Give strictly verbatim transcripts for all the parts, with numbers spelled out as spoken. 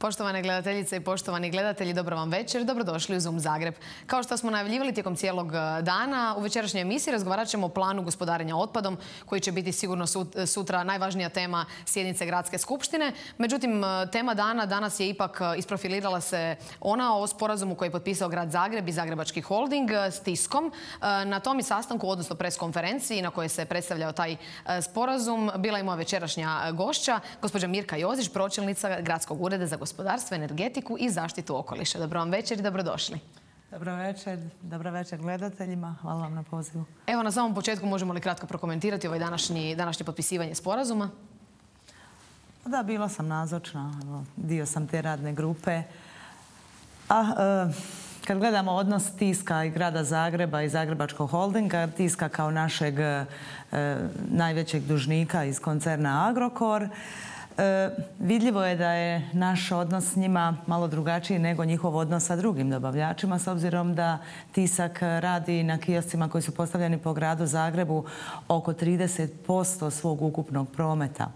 Poštovane gledateljice i poštovani gledatelji, dobro vam večer, dobrodošli u Zoom Zagreb. Kao što smo najavljivali tijekom cijelog dana, u večerašnjoj emisiji razgovarat ćemo o planu gospodarenja otpadom, koji će biti sigurno sutra najvažnija tema sjednice Gradske skupštine. Međutim, tema dana danas je ipak isprofilirala se ona o sporazumu koji je potpisao Grad Zagreb i Zagrebački holding s Tiskom. Na tom i sastanku, odnosno preskonferenciji na kojoj se predstavljao taj sporazum, bila je moja večerašnja gošća, gospođa Mirka Jozić, pročelnica Gradskog ureda za gospodarstvo, energetiku i zaštitu okoliša. Dobro vam večer i dobrodošli. Dobro večer, dobro večer gledateljima. Hvala vam na pozivu. Evo, na samom početku možemo li kratko prokomentirati ovaj današnji, današnje potpisivanje sporazuma? Da, bila sam nazočna. Dio sam te radne grupe. A, e, kad gledamo odnos Tiska i Grada Zagreba i Zagrebačkog holdinga, Tiska kao našeg e, najvećeg dužnika iz koncerna Agrokor, E, vidljivo je da je naš odnos s njima malo drugačiji nego njihov odnos sa drugim dobavljačima, s obzirom da Tisak radi na kioscima koji su postavljeni po Gradu Zagrebu oko trideset posto svog ukupnog prometa.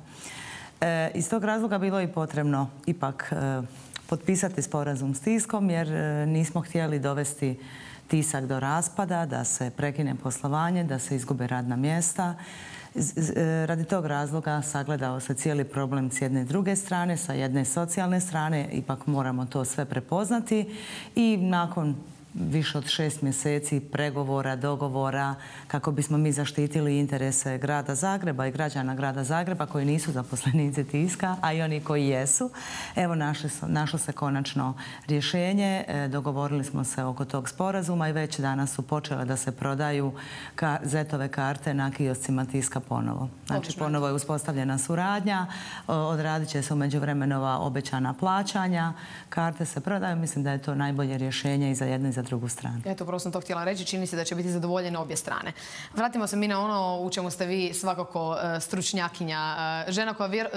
E, iz tog razloga bilo je potrebno ipak e, potpisati sporazum s Tiskom, jer e, nismo htjeli dovesti Tisak do raspada, da se prekine poslovanje, da se izgube radna mjesta. Radi tog razloga sagledao se cijeli problem s jedne i druge strane, sa jedne socijalne strane, ipak moramo to sve prepoznati i nakon više od šest mjeseci pregovora, dogovora, kako bismo mi zaštitili interese Grada Zagreba i građana Grada Zagreba koji nisu zaposlenici Tiska, a i oni koji jesu. Evo, našlo se konačno rješenje. Dogovorili smo se oko tog sporazuma i već danas su počele da se prodaju zetove karte na kioscima Tiska ponovo. Znači, ponovo je uspostavljena suradnja, odradit će se u međuvremenu obećana plaćanja, karte se prodaju. Mislim da je to najbolje rješenje i za jednu i za drugu stranu. Eto, upravo sam to htjela reći. Čini se da će biti zadovoljene obje strane. Vratimo se mi na ono u čemu ste vi svakako stručnjakinja. Žena koja vjer...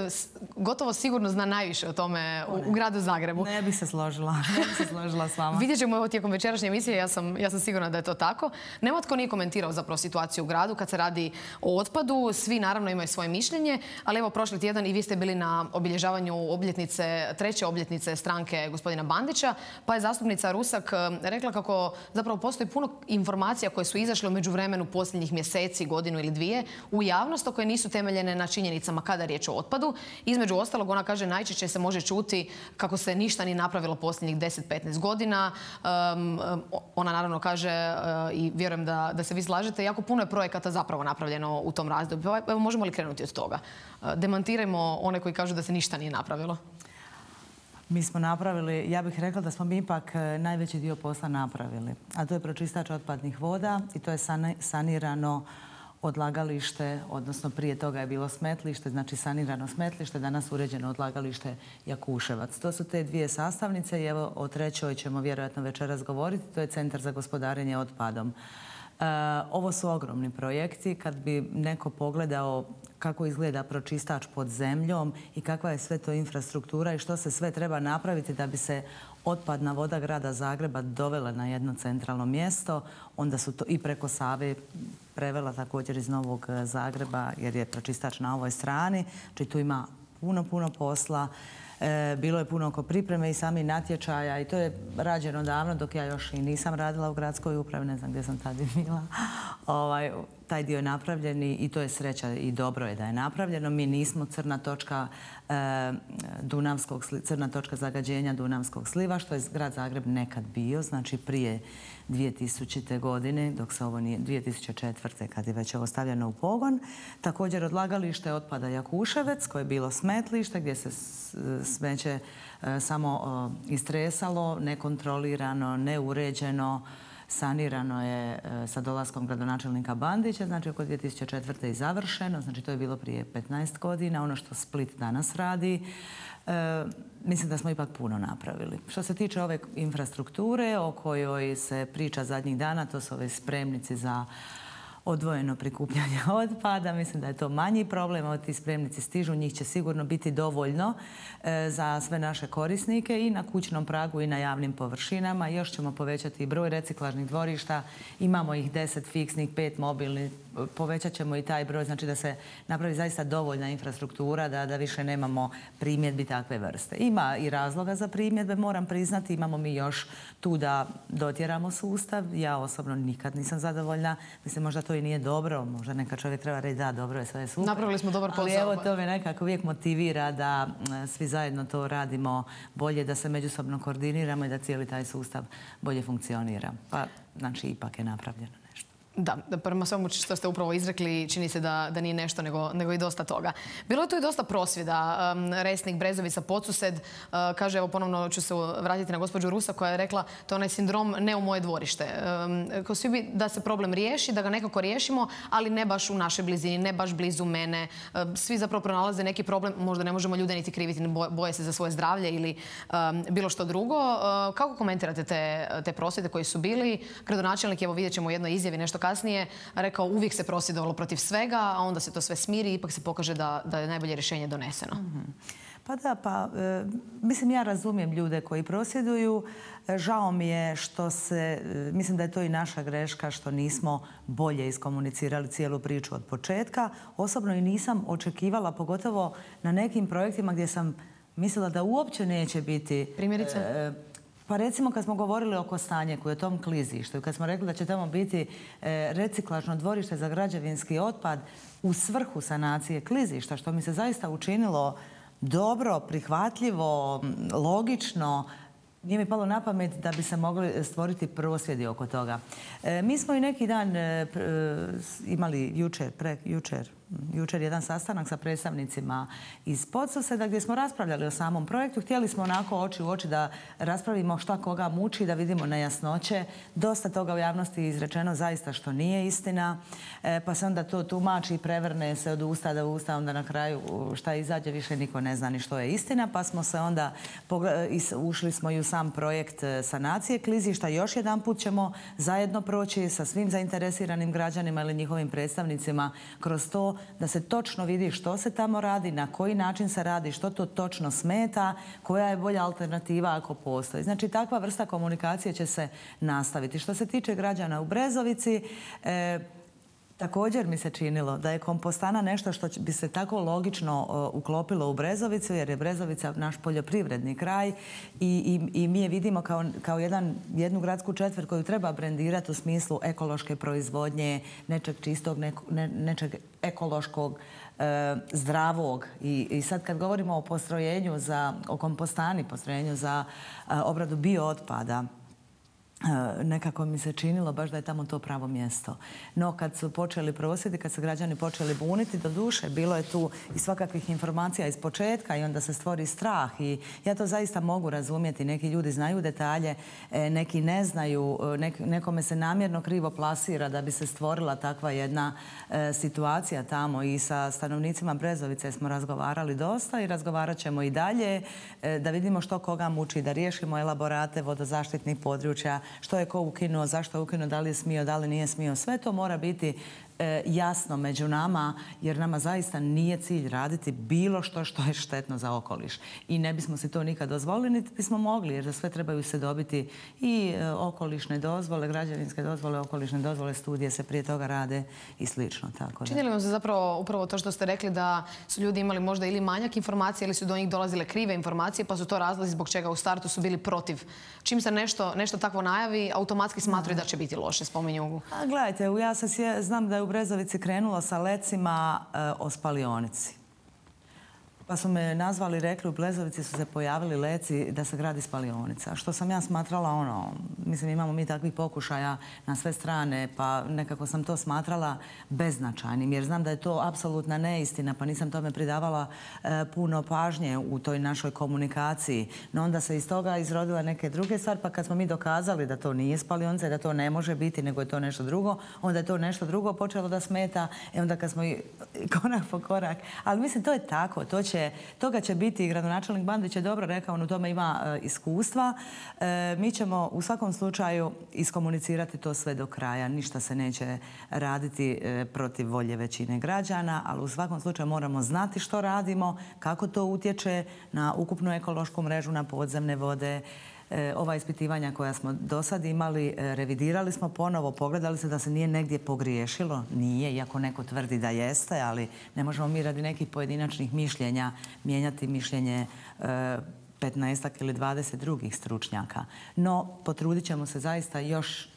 gotovo sigurno zna najviše o tome u, u Gradu Zagrebu. Ne bih se složila. Ne bih se složila s vama. Vidjet ćemo ovo tijekom večerašnje emisije. Ja sam, ja sam sigurna da je to tako. Nema tko nije komentirao zapravo situaciju u gradu kad se radi o otpadu. Svi naravno imaju svoje mišljenje, ali evo, prošli tjedan i vi ste bili na obilježavanju obljetnice, treće obljetnice stranke gospodina Bandića, pa je zastupnica Rusak rekla kako zapravo postoji puno informacija koje su izašle u međuvremenu posljednjih mjeseci, godinu ili dvije u javnost, koje nisu temeljene na činjenicama kada je riječ o otpadu. Između ostalog, ona kaže, najčešće se može čuti kako se ništa nije napravilo posljednjih deset do petnaest godina. Um, ona naravno kaže, uh, i vjerujem da, da se vi slažete, jako puno je projekata zapravo napravljeno u tom razdoblju. Evo, možemo li krenuti od toga? Uh, demantirajmo one koji kažu da se ništa nije napravilo. Mi smo napravili, ja bih rekla da smo mi ipak najveći dio posla napravili. A to je pročistač otpadnih voda i to je sanirano odlagalište, odnosno prije toga je bilo smetlište, znači sanirano smetlište, danas uređeno odlagalište Jakuševac. To su te dvije sastavnice i evo o trećoj ćemo vjerojatno večeras govoriti, to je Centar za gospodarenje otpadom. E, ovo su ogromni projekti. Kad bi neko pogledao kako izgleda pročistač pod zemljom i kakva je sve to infrastruktura i što se sve treba napraviti da bi se otpadna voda Grada Zagreba dovela na jedno centralno mjesto, onda su to i preko Save prevela također iz Novog Zagreba, jer je pročistač na ovoj strani. Znači tu ima puno, puno posla. E, bilo je puno oko pripreme i sami natječaja i to je rađeno davno dok ja još i nisam radila u gradskoj upravi, ne znam gdje sam tada bila. Ovaj, taj dio je napravljen i to je sreća i dobro je da je napravljeno. Mi nismo crna točka, e, Dunavskog, crna točka zagađenja Dunavskog sliva, što je Grad Zagreb nekad bio, znači prije dvije tisućite. godine, dok se ovo nije, dvije tisuće četvrte. kad je već ovo stavljeno u pogon. Također odlagalište otpada Jakuševec, koje je bilo smetlište, gdje se smeće e, samo e, istresalo, nekontrolirano, neuređeno, sanirano je sa dolaskom gradonačelnika Bandića, znači oko dvije tisuće četvrte. i završeno, znači to je bilo prije petnaest godina. Ono što Split danas radi, e, mislim da smo ipak puno napravili. Što se tiče ove infrastrukture o kojoj se priča zadnjih dana, to su ove spremnici za odvojeno prikupljanje otpada. Mislim da je to manji problem. Ovo ti spremnici stižu, njih će sigurno biti dovoljno za sve naše korisnike i na kućnom pragu i na javnim površinama. Još ćemo povećati broj reciklažnih dvorišta. Imamo ih deset fiksnih, pet mobilnih. Povećat ćemo i taj broj, znači da se napravi zaista dovoljna infrastruktura, da, da više nemamo primjedbi takve vrste. Ima i razloga za primjedbe, moram priznati. Imamo mi još tu da dotjeramo sustav. Ja osobno nikad nisam zadovoljna. Mislim, možda to i nije dobro. Možda neka čovjek treba reći da, dobro je, sve je super. Napravili smo dobar posao. Ali evo, to me nekako uvijek motivira da svi zajedno to radimo bolje, da se međusobno koordiniramo i da cijeli taj sustav bolje funkcionira. Pa, znači, ipak je napravljeno nešto. Da, prema svemu što ste upravo izrekli, čini se da, da nije nešto, nego, nego i dosta toga. Bilo je tu i dosta prosvjeda. Um, Resnik, Brezovica, Podsused. Uh, kaže, evo ponovno ću se vratiti na gospođu Rusa koja je rekla to je onaj sindrom ne u moje dvorište. Um, kao svi bi da se problem riješi, da ga nekako riješimo, ali ne baš u našoj blizini, ne baš blizu mene. Uh, svi zapravo pronalaze neki problem, možda ne možemo ljude niti kriviti, boje se za svoje zdravlje ili um, bilo što drugo. Uh, kako komentirate te, te prosvjede koji su bili? Gradonačelnik, evo vidjet ćemo u jednoj izjavi nešto kasnije, rekao uvijek se prosvjedovalo protiv svega, a onda se to sve smiri i ipak se pokaže da, da je najbolje rješenje doneseno. Mm-hmm. Pa da, pa e, mislim ja razumijem ljude koji prosvjeduju. E, žao mi je što se, e, mislim da je to i naša greška što nismo bolje iskomunicirali cijelu priču od početka. Osobno i nisam očekivala, pogotovo na nekim projektima gdje sam mislila da uopće neće biti... Primjerice? E, Pa recimo kad smo govorili o Kostanjeku i o tom klizištu i kad smo rekli da će tamo biti e, reciklažno dvorište za građevinski otpad u svrhu sanacije klizišta, što mi se zaista učinilo dobro, prihvatljivo, logično, nije mi palo na pamet da bi se mogli stvoriti prosvjedi oko toga. E, mi smo i neki dan e, imali jučer, pre, jučer, jučer jedan sastanak sa predstavnicima iz Podsuseda gdje smo raspravljali o samom projektu. Htjeli smo onako oči u oči da raspravimo šta koga muči, da vidimo nejasnoće. Dosta toga u javnosti je izrečeno zaista što nije istina. E, pa se onda to tumači i prevrne se od usta do usta, onda na kraju šta izađe više niko ne zna ni što je istina. Pa smo se onda, ušli smo i u sam projekt sanacije klizišta. Još jedan put ćemo zajedno proći sa svim zainteresiranim građanima ili njihovim predstavnicima kroz to da se točno vidi što se tamo radi, na koji način se radi, što to točno smeta, koja je bolja alternativa ako postoji. Znači, takva vrsta komunikacije će se nastaviti. Što se tiče građana u Brezovici, e, također mi se činilo da je kompostana nešto što bi se tako logično uh, uklopilo u Brezovicu, jer je Brezovica naš poljoprivredni kraj i, i, i mi je vidimo kao, kao jedan, jednu gradsku četvrt koju treba brendirati u smislu ekološke proizvodnje, nečeg čistog, ne, ne, nečeg ekološkog, uh, zdravog. I, I sad kad govorimo o postrojenju za, o kompostani, postrojenju za uh, obradu biootpada, nekako mi se činilo baš da je tamo to pravo mjesto. No, kad su počeli prosvjedi, kad su građani počeli buniti, do duše, bilo je tu i svakakvih informacija iz početka i onda se stvori strah. I ja to zaista mogu razumjeti. Neki ljudi znaju detalje, neki ne znaju, nek, nekome se namjerno krivo plasira da bi se stvorila takva jedna e, situacija tamo. I sa stanovnicima Brezovice smo razgovarali dosta i razgovarat ćemo i dalje e, da vidimo što koga muči, da riješimo elaborate vodozaštitnih područja, što je ko ukinuo, zašto je ukinuo, da li je smio, da li nije smio. Sve to mora biti e, jasno među nama, jer nama zaista nije cilj raditi bilo što što je štetno za okoliš. I ne bismo si to nikad dozvolili, niti bismo mogli, jer za sve trebaju se dobiti i e, okolišne dozvole, građevinske dozvole, okolišne dozvole, studije se prije toga rade i slično. Tako da. Čini li vam se zapravo upravo to što ste rekli da su ljudi imali možda ili manjak informacije ili su do njih dolazile krive informacije, pa su to razlozi zbog čega u startu su bili protiv? Čim se nešto, nešto takvo najavi, automatski smatraju da će biti loše, spominju. A, gledajte, ja se sje, znam da je u Brezovici krenulo sa lecima e, o spalionici. Pa su me nazvali i rekli u Brezovici su se pojavili leci da se gradi spalionica. Što sam ja smatrala, ono, mislim imamo mi takvih pokušaja na sve strane, pa nekako sam to smatrala beznačajnim, jer znam da je to apsolutna neistina, pa nisam tome pridavala e, puno pažnje u toj našoj komunikaciji. No onda se iz toga izrodila neke druge stvari, pa kad smo mi dokazali da to nije spalionica i da to ne može biti, nego je to nešto drugo, onda je to nešto drugo počelo da smeta, i onda kad smo i korak po korak. Ali mislim, to je tako, to će će, toga će biti, gradonačelnik Bandić je dobro rekao, on u tome ima e, iskustva. E, mi ćemo u svakom slučaju iskomunicirati to sve do kraja. Ništa se neće raditi e, protiv volje većine građana, ali u svakom slučaju moramo znati što radimo, kako to utječe na ukupnu ekološku mrežu, na podzemne vode. E, ova ispitivanja koja smo do sad imali, e, revidirali smo ponovo, pogledali se da se nije negdje pogriješilo. Nije, iako neko tvrdi da jeste, ali ne možemo mi radi nekih pojedinačnih mišljenja mijenjati mišljenje e, petnaestak ili dvadeset drugih stručnjaka. No, potrudit ćemo se zaista još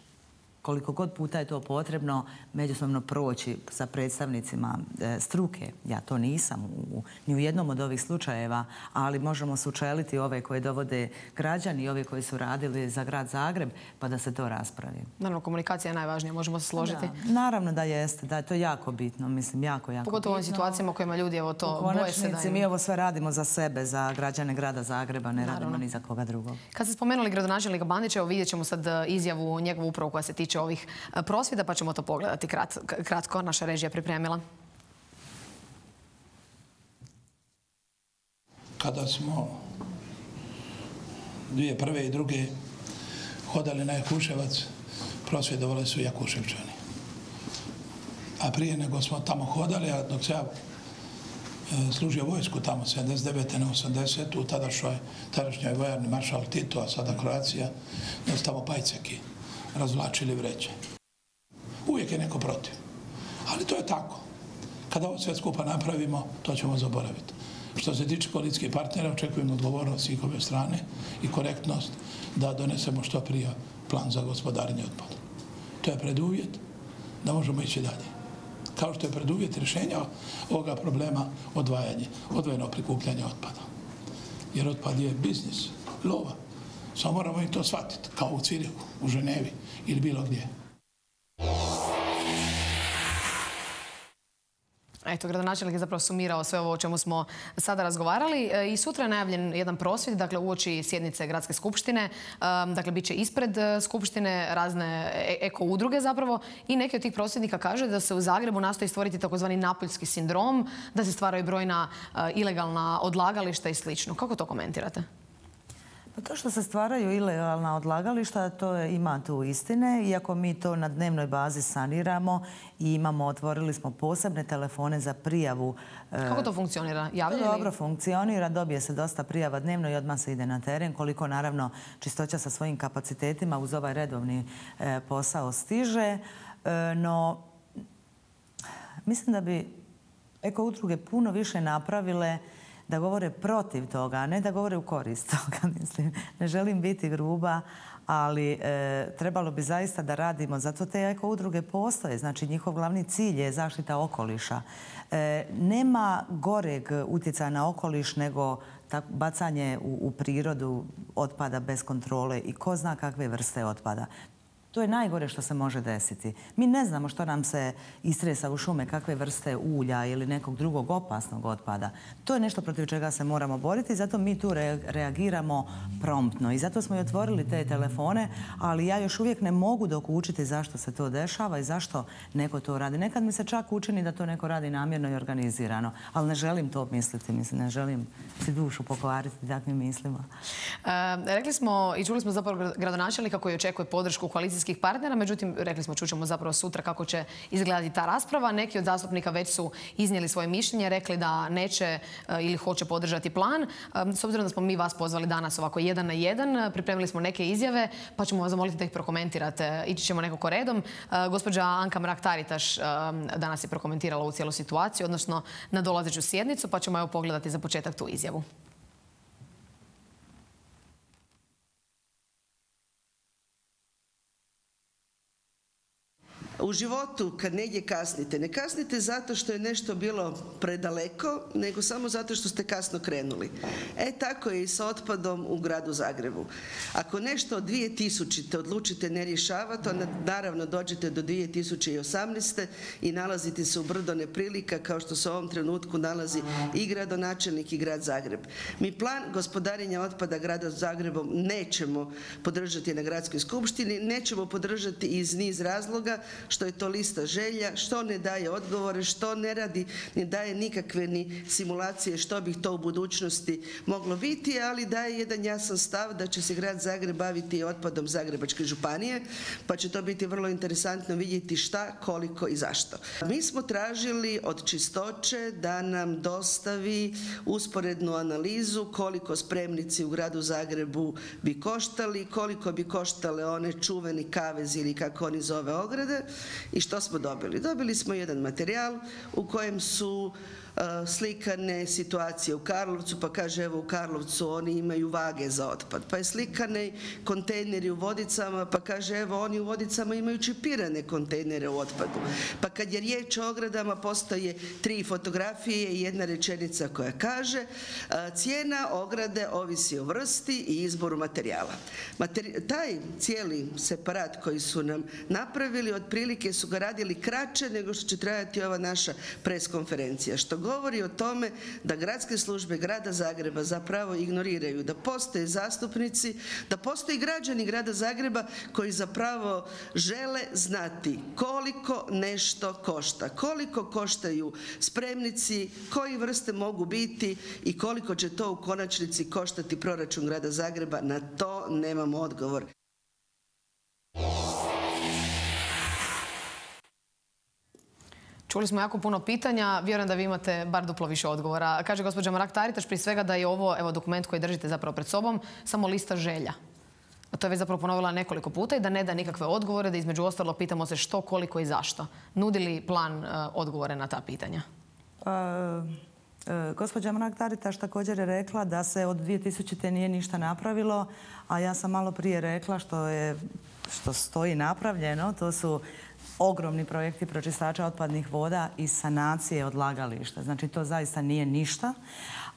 koliko god puta je to potrebno međusobno proći sa predstavnicima e, struke. Ja to nisam u, ni u jednom od ovih slučajeva, ali možemo sučeliti ove koje dovode građani i ove koji su radili za grad Zagreb, pa da se to raspravi. Naravno, komunikacija je najvažnija, možemo se složiti. Da, naravno da jeste, da je to jako bitno, mislim, jako, jako Pogotovo u ovim situacijama u kojima ljudi evo to boje se da im... Mi ovo sve radimo za sebe, za građane grada Zagreba, ne radimo ni za koga drugog. Kad ste spomenuli gradonačelnika Bandića, evo vidjet ćemo sad izjavu njegovu upravo koja se tiče ovih prosvjeda, pa ćemo to pogledati kratko. Naša režija pripremila. Kada smo dvije prve i druge hodali na Jakuševac, prosvjedovali su Jakuševčani. A prije nego smo tamo hodali, a dok se ja služio vojsku tamo sedamdeset devete na osamdesetu u tadašnjoj vojarni maršal Tito, a sada Kroacija, da su tamo pajceki razvlačili vreće. Uvijek je neko protiv. Ali to je tako. Kada ovo sve skupa napravimo, to ćemo zaboraviti. Što se tiče koalicijskih partnera, očekujemo odgovornost svih ove strane i korektnost da donesemo što prije plan za gospodarenje otpada. To je preduvjet da možemo ići dalje. Kao što je preduvjet rješenja ovoga problema odvajanje, odvojeno prikupljanje otpada. Jer otpad je biznis, lova. Samo moramo i to shvatiti, kao u Cirihu, u Ženevi ili bilo gdje. Eto, gradonačelnik je zapravo sumirao sve ovo o čemu smo sada razgovarali. I sutra je najavljen jedan prosvjed, dakle uoči sjednice Gradske skupštine. Dakle, bit će ispred skupštine razne eko udruge zapravo i neki od tih prosvjednika kaže da se u Zagrebu nastoji stvoriti takozvani napuljski sindrom, da se stvaraju brojna ilegalna odlagališta i slično. Kako to komentirate? Pa to što se stvaraju ilegalna odlagališta, to je, ima tu istine, iako mi to na dnevnoj bazi saniramo i imamo, otvorili smo posebne telefone za prijavu. Kako to funkcionira? Javljaju li? To dobro funkcionira, dobije se dosta prijava dnevno i odmah se ide na teren, koliko naravno Čistoća sa svojim kapacitetima uz ovaj redovni e, posao stiže. E, no, mislim da bi eko udruge puno više napravile da govore protiv toga, a ne da govore u korist toga. Mislim, ne želim biti gruba, ali e, trebalo bi zaista da radimo. Zato te eko udruge postoje. Znači, njihov glavni cilj je zaštita okoliša. E, nema goreg utjecaja na okoliš nego bacanje u, u prirodu otpada bez kontrole i ko zna kakve vrste otpada. To je najgore što se može desiti. Mi ne znamo što nam se istresa u šume, kakve vrste ulja ili nekog drugog opasnog otpada. To je nešto protiv čega se moramo boriti i zato mi tu reagiramo promptno. I zato smo i otvorili te telefone, ali ja još uvijek ne mogu dokučiti zašto se to dešava i zašto neko to radi. Nekad mi se čak učini da to neko radi namjerno i organizirano, ali ne želim to misliti. Mislim, ne želim si dušu pokvariti takvim mislima. E, rekli smo i čuli smo zapravo gradonačelnika koji očekuje podršku koalicijskih partnera, međutim, rekli smo, čućemo zapravo sutra kako će izgledati ta rasprava. Neki od zastupnika već su iznijeli svoje mišljenje, rekli da neće ili hoće podržati plan. S obzirom da smo mi vas pozvali danas ovako jedan na jedan, pripremili smo neke izjave, pa ćemo vas zamoliti da ih prokomentirate. Ići ćemo nekako redom. Gospođa Anka Mrak-Taritaš danas je prokomentirala ovu cijelu situaciju, odnosno na dolazeću sjednicu, pa ćemo evo pogledati za početak tu izjavu. U životu kad negdje kasnite, ne kasnite zato što je nešto bilo predaleko, nego samo zato što ste kasno krenuli. E tako je i sa otpadom u gradu Zagrebu. Ako nešto od dvije tisućite odlučite ne rješavati, onda naravno dođete do dvije tisuće osamnaeste. i nalazite se u brdo neprilika kao što se u ovom trenutku nalazi i gradonačelnik i grad Zagreb. Mi plan gospodarenja otpada grada Zagrebom nećemo podržati na gradskoj skupštini, nećemo podržati iz niz razloga što što je to lista želja, što ne daje odgovore, što ne radi, ne daje nikakve ni simulacije što bi to u budućnosti moglo biti, ali daje jedan jasan stav da će se grad Zagreb baviti otpadom Zagrebačke županije, pa će to biti vrlo interesantno vidjeti šta, koliko i zašto. Mi smo tražili od Čistoće da nam dostavi usporednu analizu koliko spremnici u gradu Zagrebu bi koštali, koliko bi koštale one čuveni kavez ili kako oni zove ograde i što smo dobili. Dobili smo jedan materijal u kojem su slikane situacije u Karlovcu, pa kaže evo u Karlovcu oni imaju vage za otpad, pa je slikane kontejneri u Vodicama, pa kaže evo oni u Vodicama imaju čipirane kontejnere u otpadu, pa kad je riječ o ogradama postoje tri fotografije i jedna rečenica koja kaže cijena ograde ovisi o vrsti i izboru materijala. Materi- taj cijeli separat koji su nam napravili otprilike su ga radili kraće nego što će trajati ova naša preskonferencija, što govori o tome da gradske službe grada Zagreba zapravo ignoriraju da postoje zastupnici, da postoji građani grada Zagreba koji zapravo žele znati koliko nešto košta, koliko koštaju spremnici, koji vrste mogu biti i koliko će to u konačnici koštati proračun grada Zagreba. Na to nemamo odgovor. Čuli smo jako puno pitanja, vjerujem da vi imate bar duplo više odgovora. Kaže gospođa Mrak-Taritaš prije svega da je ovo, evo, dokument koji držite zapravo pred sobom, samo lista želja. A to je već zapravo ponovila nekoliko puta i da ne da nikakve odgovore, da između ostalo pitamo se što, koliko i zašto. Nudi li plan uh, odgovore na ta pitanja? Uh, uh, gospođa Mrak-Taritaš također je rekla da se od dvije tisućite nije ništa napravilo, a ja sam malo prije rekla što je, što stoji napravljeno, to su ogromni projekti pročistača otpadnih voda i sanacije odlagališta. Znači to zaista nije ništa.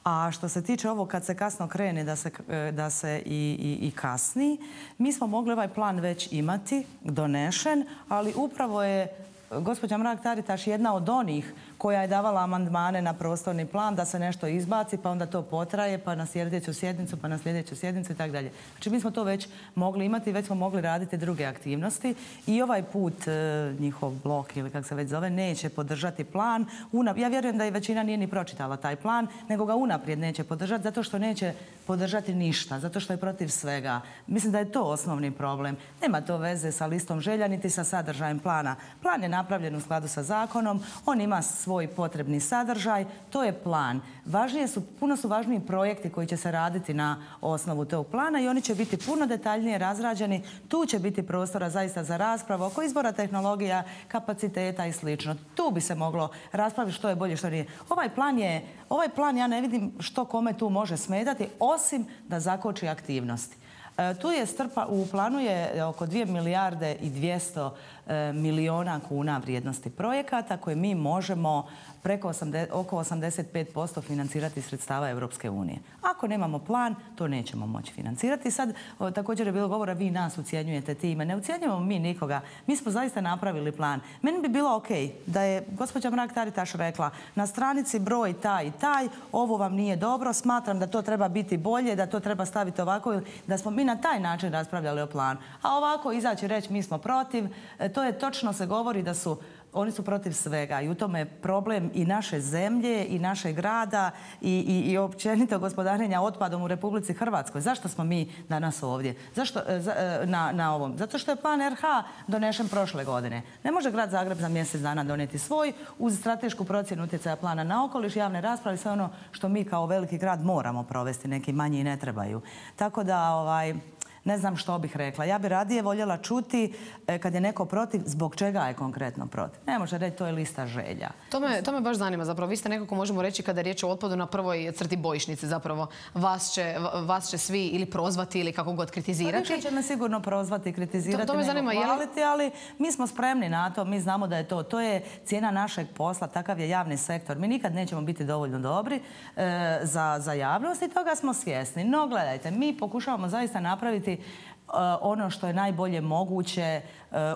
A što se tiče ovo kad se kasno krene da se, da se i, i, i kasni, mi smo mogli ovaj plan već imati, donešen, ali upravo je gospođa Mrak-Taritaš jedna od onih koja je davala amandmane na prostorni plan da se nešto izbaci, pa onda to potraje, pa na sljedeću sjednicu, pa na sljedeću sjednicu i tako dalje. Znači mi smo to već mogli imati, već smo mogli raditi druge aktivnosti i ovaj put e, njihov blok ili kako se već zove neće podržati plan. Una, ja vjerujem da i većina nije ni pročitala taj plan, nego ga unaprijed neće podržati zato što neće podržati ništa, zato što je protiv svega. Mislim da je to osnovni problem. Nema to veze sa listom želja niti sa sadržajem plana. Plan je napravljen u skladu sa zakonom, on ima svoj potrebni sadržaj, to je plan. Važnije su, puno su važniji projekti koji će se raditi na osnovu tog plana i oni će biti puno detaljnije razrađeni. Tu će biti prostora zaista za raspravu oko izbora tehnologija, kapaciteta i slično. Tu bi se moglo raspraviti što je bolje, što nije. Ovaj plan je, ovaj plan ja ne vidim što kome tu može smetati, osim da zakoči aktivnosti. E, tu je strpa, u planu je oko dvije milijarde i dvjesto e, milijuna kuna vrijednosti projekata koje mi možemo preko osamdeset, oko osamdeset pet posto financirati sredstava Europske unije. Ako nemamo plan, to nećemo moći financirati. Sad o, također je bilo govora, vi nas ucjenjujete time. Ne ucjenjujemo mi nikoga. Mi smo zaista napravili plan. Meni bi bilo ok da je gospođa Mrak-Taritaš rekla na stranici broj taj i taj, ovo vam nije dobro, smatram da to treba biti bolje, da to treba staviti ovako, da smo mi na taj način raspravljali o planu. A ovako izaći reći mi smo protiv, to je točno se govori da su oni su protiv svega i u tome je problem i naše zemlje i našeg grada i, i, i općenito gospodarenja otpadom u Republici Hrvatskoj. Zašto smo mi danas ovdje? Zašto, za, na, na ovom? Zato što je plan R H donešen prošle godine. Ne može grad Zagreb za mjesec dana donijeti svoj uz stratešku procjenu utjecaja plana na okoliš, javne rasprave, sve ono što mi kao veliki grad moramo provesti, neki manji ne trebaju. Tako da ovaj, ne znam što bih rekla. Ja bi radije voljela čuti e, kad je neko protiv, zbog čega je konkretno protiv. Ne može reći, to je lista želja. To me, to me baš zanima zapravo. Vi ste nekako, možemo reći, kada je riječ o otpadu na prvoj crti bojišnice zapravo. Vas će, vas će svi ili prozvati ili kako god kritizirati. Pa više će me sigurno prozvati, kritizirati, to, to me zanima, hvaliti, ali mi smo spremni na to, mi znamo da je to. To je cijena našeg posla, takav je javni sektor. Mi nikad nećemo biti dovoljno dobri e, za, za javnost i toga smo svjesni. No, gledajte, mi pokušavamo zaista napraviti ono što je najbolje moguće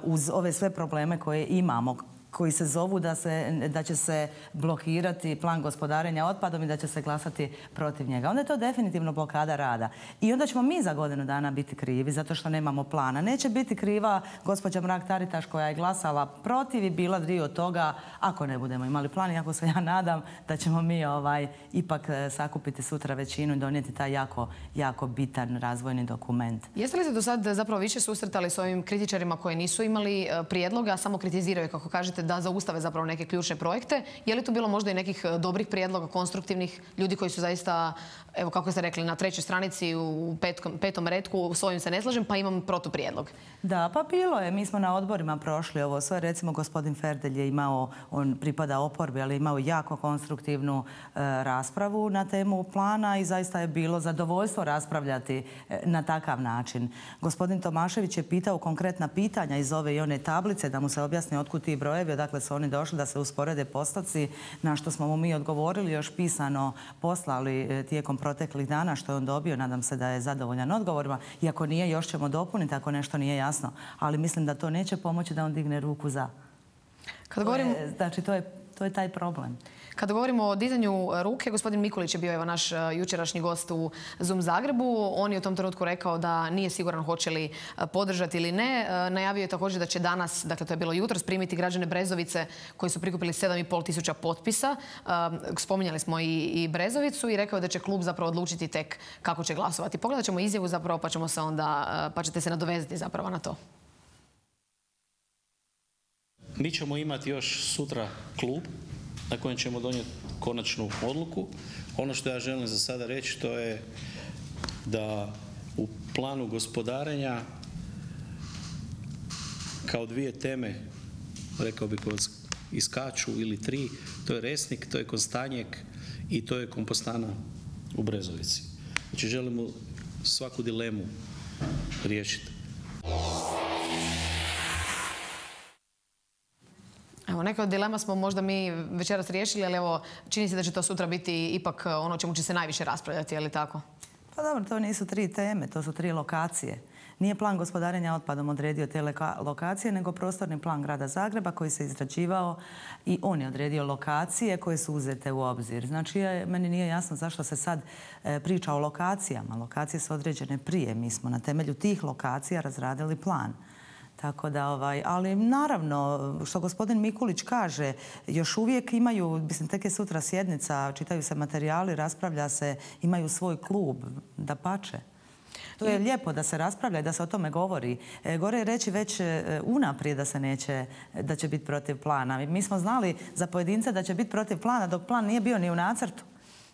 uz ove sve probleme koje imamo. koji se zovu da, se, da će se blokirati plan gospodarenja otpadom i da će se glasati protiv njega. Onda je to definitivno blokada rada. I onda ćemo mi za godinu dana biti krivi zato što nemamo plana. Neće biti kriva gospođa Mrak-Taritaš koja je glasala protiv i bila dio toga ako ne budemo imali plan. Iako se ja nadam da ćemo mi ovaj, ipak sakupiti sutra većinu i donijeti taj jako, jako bitan razvojni dokument. Jeste li se do sad zapravo više susretali s ovim kritičarima koji nisu imali prijedloga, a samo kritiziraju, kako kažete, da zaustave zapravo neke ključne projekte? Je li tu bilo možda i nekih dobrih prijedloga, konstruktivnih ljudi koji su zaista, evo kako ste rekli, na trećoj stranici u petkom, petom retku, s ovim se ne slažem, pa imam protuprijedlog? Da, pa bilo je. Mi smo na odborima prošli ovo sve. Recimo, gospodin Ferdelj je imao, on pripada oporbi, ali je imao jako konstruktivnu e, raspravu na temu plana i zaista je bilo zadovoljstvo raspravljati e, na takav način. Gospodin Tomašević je pitao konkretna pitanja iz ove i one tablice da mu se objasni otkud ti brojevi, odakle su oni došli, da se usporede postoci, na što smo mu mi odgovorili, još pisano poslali e, tijekom proteklih dana, što je on dobio. Nadam se da je zadovoljan odgovorima. Iako nije, još ćemo dopuniti ako nešto nije jasno. Ali mislim da to neće pomoći da on digne ruku za. Kad govorimo... Znači, to je, to je taj problem. Kada govorimo o dizanju ruke, gospodin Mikulić je bio evo naš jučerašnji gost u Zoom Zagrebu. On je u tom trenutku rekao da nije siguran hoće li podržati ili ne. Najavio je također da će danas, dakle to je bilo jutros, primiti građane Brezovice koji su prikupili sedam i pol tisuća potpisa. Spominjali smo i, i Brezovicu i rekao je da će klub zapravo odlučiti tek kako će glasovati. Pogledat ćemo izjavu zapravo pa ćemo se onda, pa ćete se nadovezati zapravo na to. Mi ćemo imati još sutra klub na kojem ćemo donijeti konačnu odluku. Ono što ja želim za sada reći to je da u planu gospodarenja kao dvije teme, rekao bih, iskaču ili tri, to je Resnik, to je Kostanjek i to je kompostana u Brezovici. Znači želimo svaku dilemu riješiti. Evo, neke od dilema smo možda mi večeras riješili, ali evo, čini se da će to sutra biti ipak ono čemu će se najviše raspravljati, je li tako? Pa dobro, to nisu tri teme, to su tri lokacije. Nije plan gospodarenja otpadom odredio te lokacije, nego prostorni plan grada Zagreba koji se izrađivao i on je odredio lokacije koje su uzete u obzir. Znači, meni nije jasno zašto se sad priča o lokacijama. Lokacije su određene prije. Mi smo na temelju tih lokacija razradili plan. Tako da, ovaj, ali naravno, što gospodin Mikulić kaže, još uvijek imaju, mislim, tek je sutra sjednica, čitaju se materijali, raspravlja se, imaju svoj klub, dapače. To je lijepo da se raspravlja i da se o tome govori. E, gore je reći već unaprijed da se neće, da će biti protiv plana. Mi smo znali za pojedince da će biti protiv plana dok plan nije bio ni u nacrtu.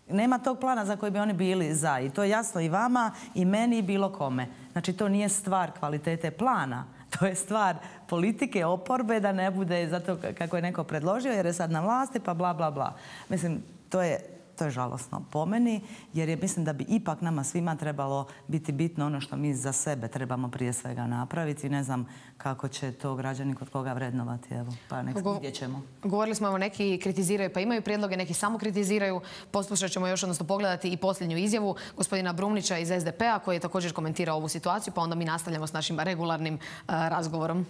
Nema tog plana za koji bi oni bili za. I to je jasno i vama, i meni, i bilo kome. Znači, to nije stvar kvalitete plana. To je stvar politike, oporbe, da ne bude zato kako je neko predložio jer je sad na vlasti, pa bla, bla, bla. Mislim, to je, to je žalosno po meni, jer je, mislim da bi ipak nama svima trebalo biti bitno ono što mi za sebe trebamo prije svega napraviti. Ne znam kako će to građani kod koga vrednovati. Evo, pa nek vidjet ćemo. Govorili smo, evo, neki kritiziraju pa imaju prijedloge, neki samo kritiziraju. Poslušat ćemo još, odnosno pogledati i posljednju izjavu gospodina Brumnića iz S D P-a koji je također komentirao ovu situaciju, pa onda mi nastavljamo s našim regularnim uh, razgovorom.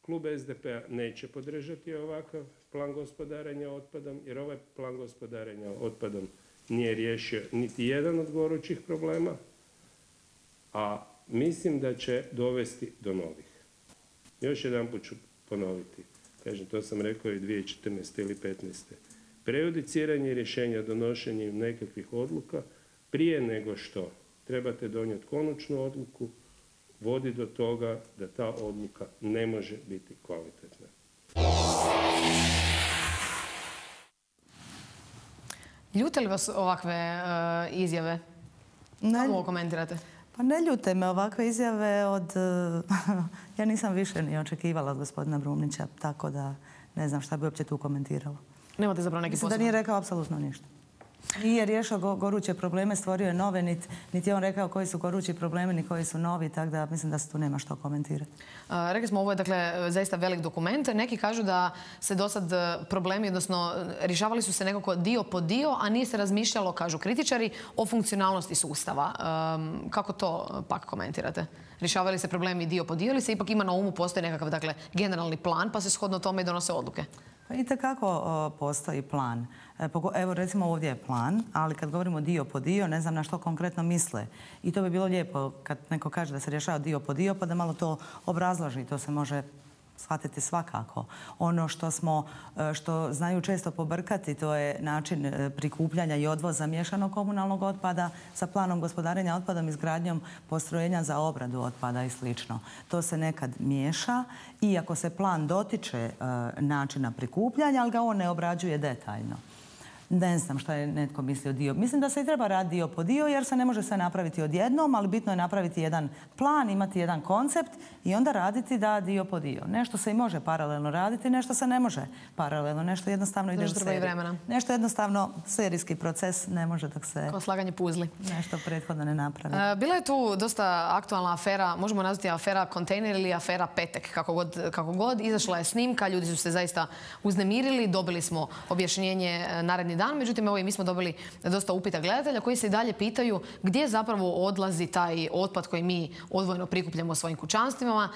Klub S D P-a neće podržati ovakav plan gospodarenja otpadom, jer ovaj plan gospodarenja otpadom nije riješio niti jedan od gorućih problema, a mislim da će dovesti do novih. Još jedan put ću ponoviti. Kažem, to sam rekao i dvije tisuće četrnaeste ili petnaeste. Prejudiciranje rješenja donošenjem nekakvih odluka prije nego što trebate donijeti konačnu odluku vodi do toga da ta odluka ne može biti kvalitetna. Ljute li vas ovakve uh, izjave? Kako ovo komentirate? Pa ne ljute me ovakve izjave od... ja nisam više ni očekivala od gospodina Brumnića, tako da ne znam šta bi uopće tu komentirala. Nemate zapravo neki posao? Mislim da nije rekao apsolutno ništa. Nije riješio goruće probleme, stvorio je nove, niti je on rekao koji su gorući problemi, ni koji su novi, tako da mislim da se tu nema što komentirati. Rekli smo, ovo je dakle zaista velik dokument. Neki kažu da se do sad problemi, odnosno rješavali su se nekako dio po dio, a nije se razmišljalo, kažu kritičari, o funkcionalnosti sustava. Kako to pak komentirate? Rješavali se problemi dio po dio ili se ipak ima na umu, postoji nekakav dakle generalni plan pa se shodno tome i donose odluke? Pa itekako postoji plan. Evo recimo ovdje je plan, ali kad govorimo dio po dio, ne znam na što konkretno misle. I to bi bilo lijepo kad neko kaže da se rješava dio po dio, pa da malo to obrazloži. To se može shvatiti svakako. Ono što smo, što znaju često pobrkati, to je način prikupljanja i odvoza miješanog komunalnog otpada sa planom gospodarenja otpadom, izgradnjom postrojenja za obradu otpada i sl. To se nekad miješa, iako se plan dotiče načina prikupljanja, ali ga on ne obrađuje detaljno. Ne znam šta je netko mislio dio. Mislim da se i treba raditi dio po dio jer se ne može sve napraviti odjednom, ali bitno je napraviti jedan plan, imati jedan koncept i onda raditi da dio po dio. Nešto se i može paralelno raditi, nešto se ne može paralelno. Nešto jednostavno ide u seriji. Nešto jednostavno serijski proces ne može dok se... Kao slaganje puzli. Nešto prethodno ne napravi. Bila je tu dosta aktualna afera, možemo nazvati afera kontejner ili afera Petek, kako god, kako god. Izašla je snimka, ljudi su se zaista uznemirili, dobili smo objašnjenje naredni dan. Međutim, evo i mi smo dobili dosta upita gledatelja koji se i dalje pitaju gdje zapravo odlazi taj otpad koji mi odvojeno prikupljamo u svojim kućanstvima.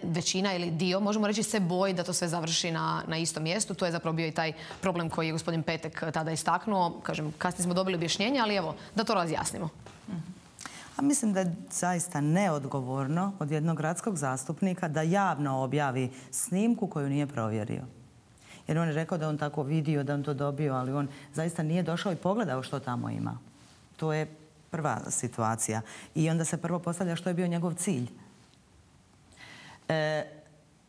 Većina ili dio, možemo reći, se boji da to sve završi na, na istom mjestu. To je zapravo bio i taj problem koji je gospodin Petek tada istaknuo. Kažem, kasnije smo dobili objašnjenje, ali evo, da to razjasnimo. A mislim da je zaista neodgovorno od jednog gradskog zastupnika da javno objavi snimku koju nije provjerio. Jer on je rekao da on tako vidio, da on to dobio, ali on zaista nije došao i pogledao što tamo ima. To je prva situacija. I onda se prvo postavlja što je bio njegov cilj. E,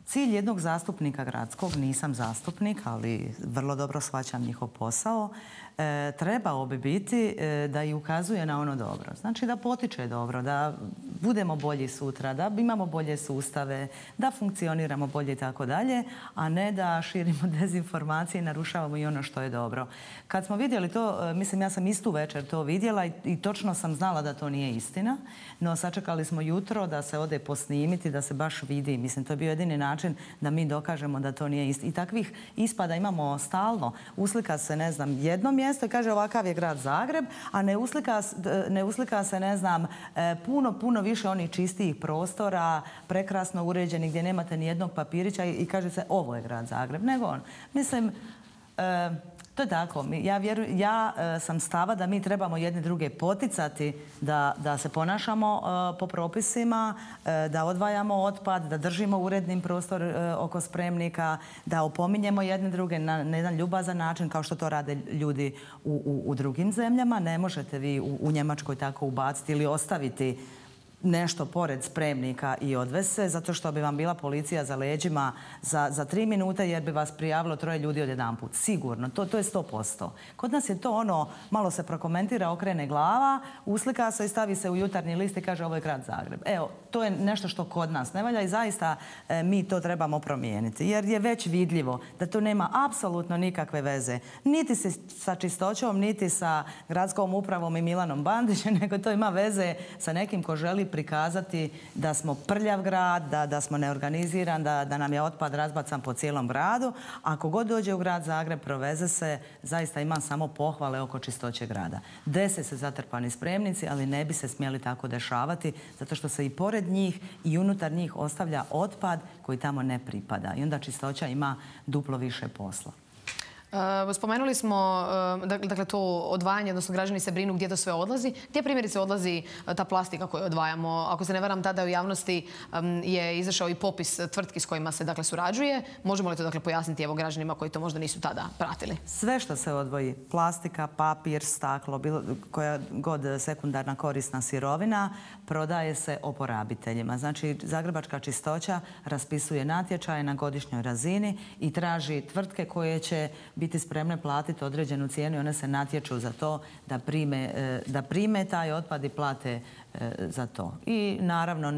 cilj jednog zastupnika gradskog, nisam zastupnik, ali vrlo dobro shvaćam njihov posao, e, trebao bi biti e, da i ukazuje na ono dobro. Znači da potiče dobro, da budemo bolji sutra, da imamo bolje sustave, da funkcioniramo bolje i tako dalje, a ne da širimo dezinformacije i narušavamo i ono što je dobro. Kad smo vidjeli to, mislim ja sam istu večer to vidjela i, i točno sam znala da to nije istina, no sačekali smo jutro da se ode posnimiti, da se baš vidi. Mislim, to je bio jedini način da mi dokažemo da to nije istina. I takvih ispada imamo stalno. Uslika se, ne znam, jedno mjesto i kaže ovakav je grad Zagreb, a ne uslika, ne uslika se, ne znam, puno, puno više onih čistijih prostora, prekrasno uređenih gdje nemate ni jednog papirića i kaže se ovo je grad Zagreb. Nego on. Mislim, e, to je tako. Ja, vjeru, ja e, sam stava da mi trebamo jedne druge poticati da, da se ponašamo e, po propisima, e, da odvajamo otpad, da držimo urednim prostor e, oko spremnika, da opominjemo jedne druge na, na jedan ljubazan način kao što to rade ljudi u, u, u drugim zemljama. Ne možete vi u, u Njemačkoj tako ubaciti ili ostaviti nešto pored spremnika i odvesti se, zato što bi vam bila policija za leđima za, za tri minute jer bi vas prijavilo troje ljudi odjedanput. Sigurno, to, to je sto posto. Kod nas je to ono, malo se prokomentira, okrene glava, uslika se i stavi se u jutarnji list i kaže ovo je grad Zagreb. Evo, to je nešto što kod nas ne valja i zaista e, mi to trebamo promijeniti. Jer je već vidljivo da to nema apsolutno nikakve veze. Niti sa čistoćom, niti sa gradskom upravom i Milanom Bandićem, nego to ima veze sa nekim ko želi prikazati da smo prljav grad, da, da smo neorganiziran, da, da nam je otpad razbacan po cijelom gradu. Ako god dođe u grad Zagreb, proveze se, zaista imam samo pohvale oko čistoće grada. Dese se zatrpani spremnici, ali ne bi se smjeli tako dešavati, zato što se i pored njih i unutar njih ostavlja otpad koji tamo ne pripada. I onda čistoća ima duplo više posla. Spomenuli smo, dakle, to odvajanje, odnosno građani se brinu gdje to sve odlazi. Gdje primjerice odlazi ta plastika koju odvajamo? Ako se ne varam, tada u javnosti je izašao i popis tvrtki s kojima se, dakle, surađuje. Možemo li to, dakle, pojasniti evo građanima koji to možda nisu tada pratili? Sve što se odvoji, plastika, papir, staklo, bilo koja god sekundarna korisna sirovina, prodaje se oporabiteljima. Znači, Zagrebačka čistoća raspisuje natječaje na godišnjoj razini i traži tvrtke koje će biti spremne platiti određenu cijenu i one se natječu za to da prime, da prime taj otpad i plate za to. I naravno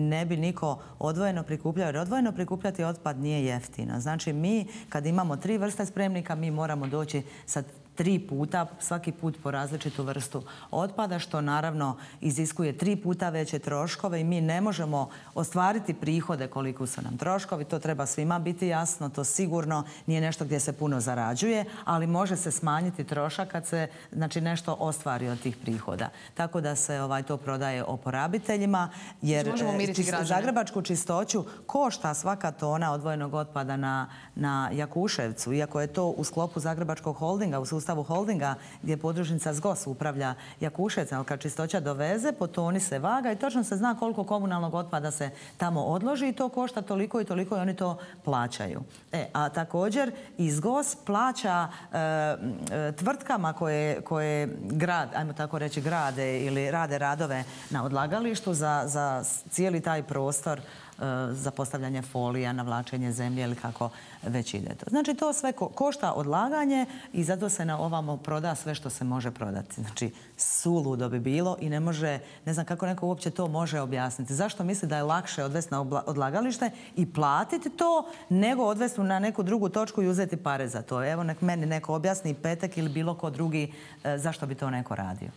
ne bi niko odvojeno prikupljao, jer odvojeno prikupljati otpad nije jeftino. Znači mi kad imamo tri vrste spremnika mi moramo doći sa tri puta, svaki put po različitu vrstu otpada, što naravno iziskuje tri puta veće troškove i mi ne možemo ostvariti prihode koliko su nam troškovi. To treba svima biti jasno, to sigurno nije nešto gdje se puno zarađuje, ali može se smanjiti trošak kad se znači, nešto ostvari od tih prihoda. Tako da se ovaj, to prodaje oporabiteljima, jer zagrebačku čistoću košta svaka tona odvojenog otpada na, na Jakuševcu, iako je to u sklopu Zagrebačkog holdinga, u sustavu holdinga gdje podružnica ZGOS upravlja Jakuševcem, ali kad čistoća doveze, po toni se vaga i točno se zna koliko komunalnog otpada se tamo odloži i to košta toliko i toliko i oni to plaćaju. E, a također i ZGOS plaća e, e, tvrtkama koje, koje grad, ajmo tako reći, grade ili rade radove na odlagalištu za, za cijeli taj prostor za postavljanje folija, navlačenje zemlje ili kako već ide to. Znači to sve košta odlaganje i zato se na ovamo proda sve što se može prodati. Znači suludo bi bilo i ne može, ne znam kako neko uopće to može objasniti. Zašto misli da je lakše odvesti na odlagalište i platiti to nego odvesti na neku drugu točku i uzeti pare za to? Evo nek meni neko objasni, Petek ili bilo ko drugi, zašto bi to neko radio.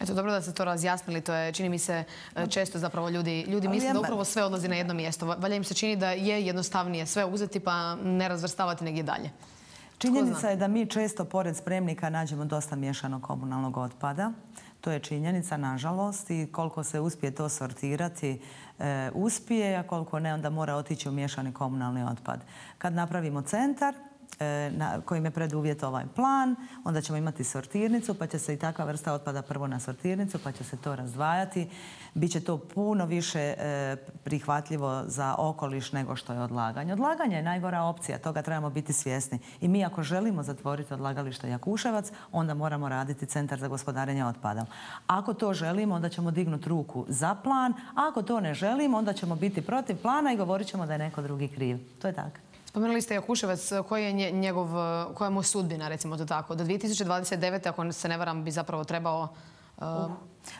Eto, dobro da ste to razjasnili. To je, čini mi se, često zapravo ljudi, ljudi misle da upravo sve odlazi na jedno mjesto. Valja im se čini da je jednostavnije sve uzeti pa ne razvrstavati negdje dalje. Činjenica je da mi često pored spremnika nađemo dosta miješanog komunalnog otpada. To je činjenica, nažalost, i koliko se uspije to sortirati, e, uspije, a koliko ne, onda mora otići u miješani komunalni otpad. Kad napravimo centar, Na, kojim je preduvjet ovaj plan, onda ćemo imati sortirnicu, pa će se i takva vrsta otpada prvo na sortirnicu, pa će se to razdvajati. Biće to puno više e, prihvatljivo za okoliš nego što je odlaganje. Odlaganje je najgora opcija, toga trebamo biti svjesni. I mi ako želimo zatvoriti odlagalište Jakuševac, onda moramo raditi centar za gospodarenje otpadom. Ako to želimo, onda ćemo dignuti ruku za plan. Ako to ne želimo, onda ćemo biti protiv plana i govorit ćemo da je neko drugi kriv. To je tako. Spomenuli ste Jakuševac, koja je njegov, koja je mu sudbina, recimo to tako? Do dvije tisuće dvadeset devete. ako se ne varam, bi zapravo trebao... Uh...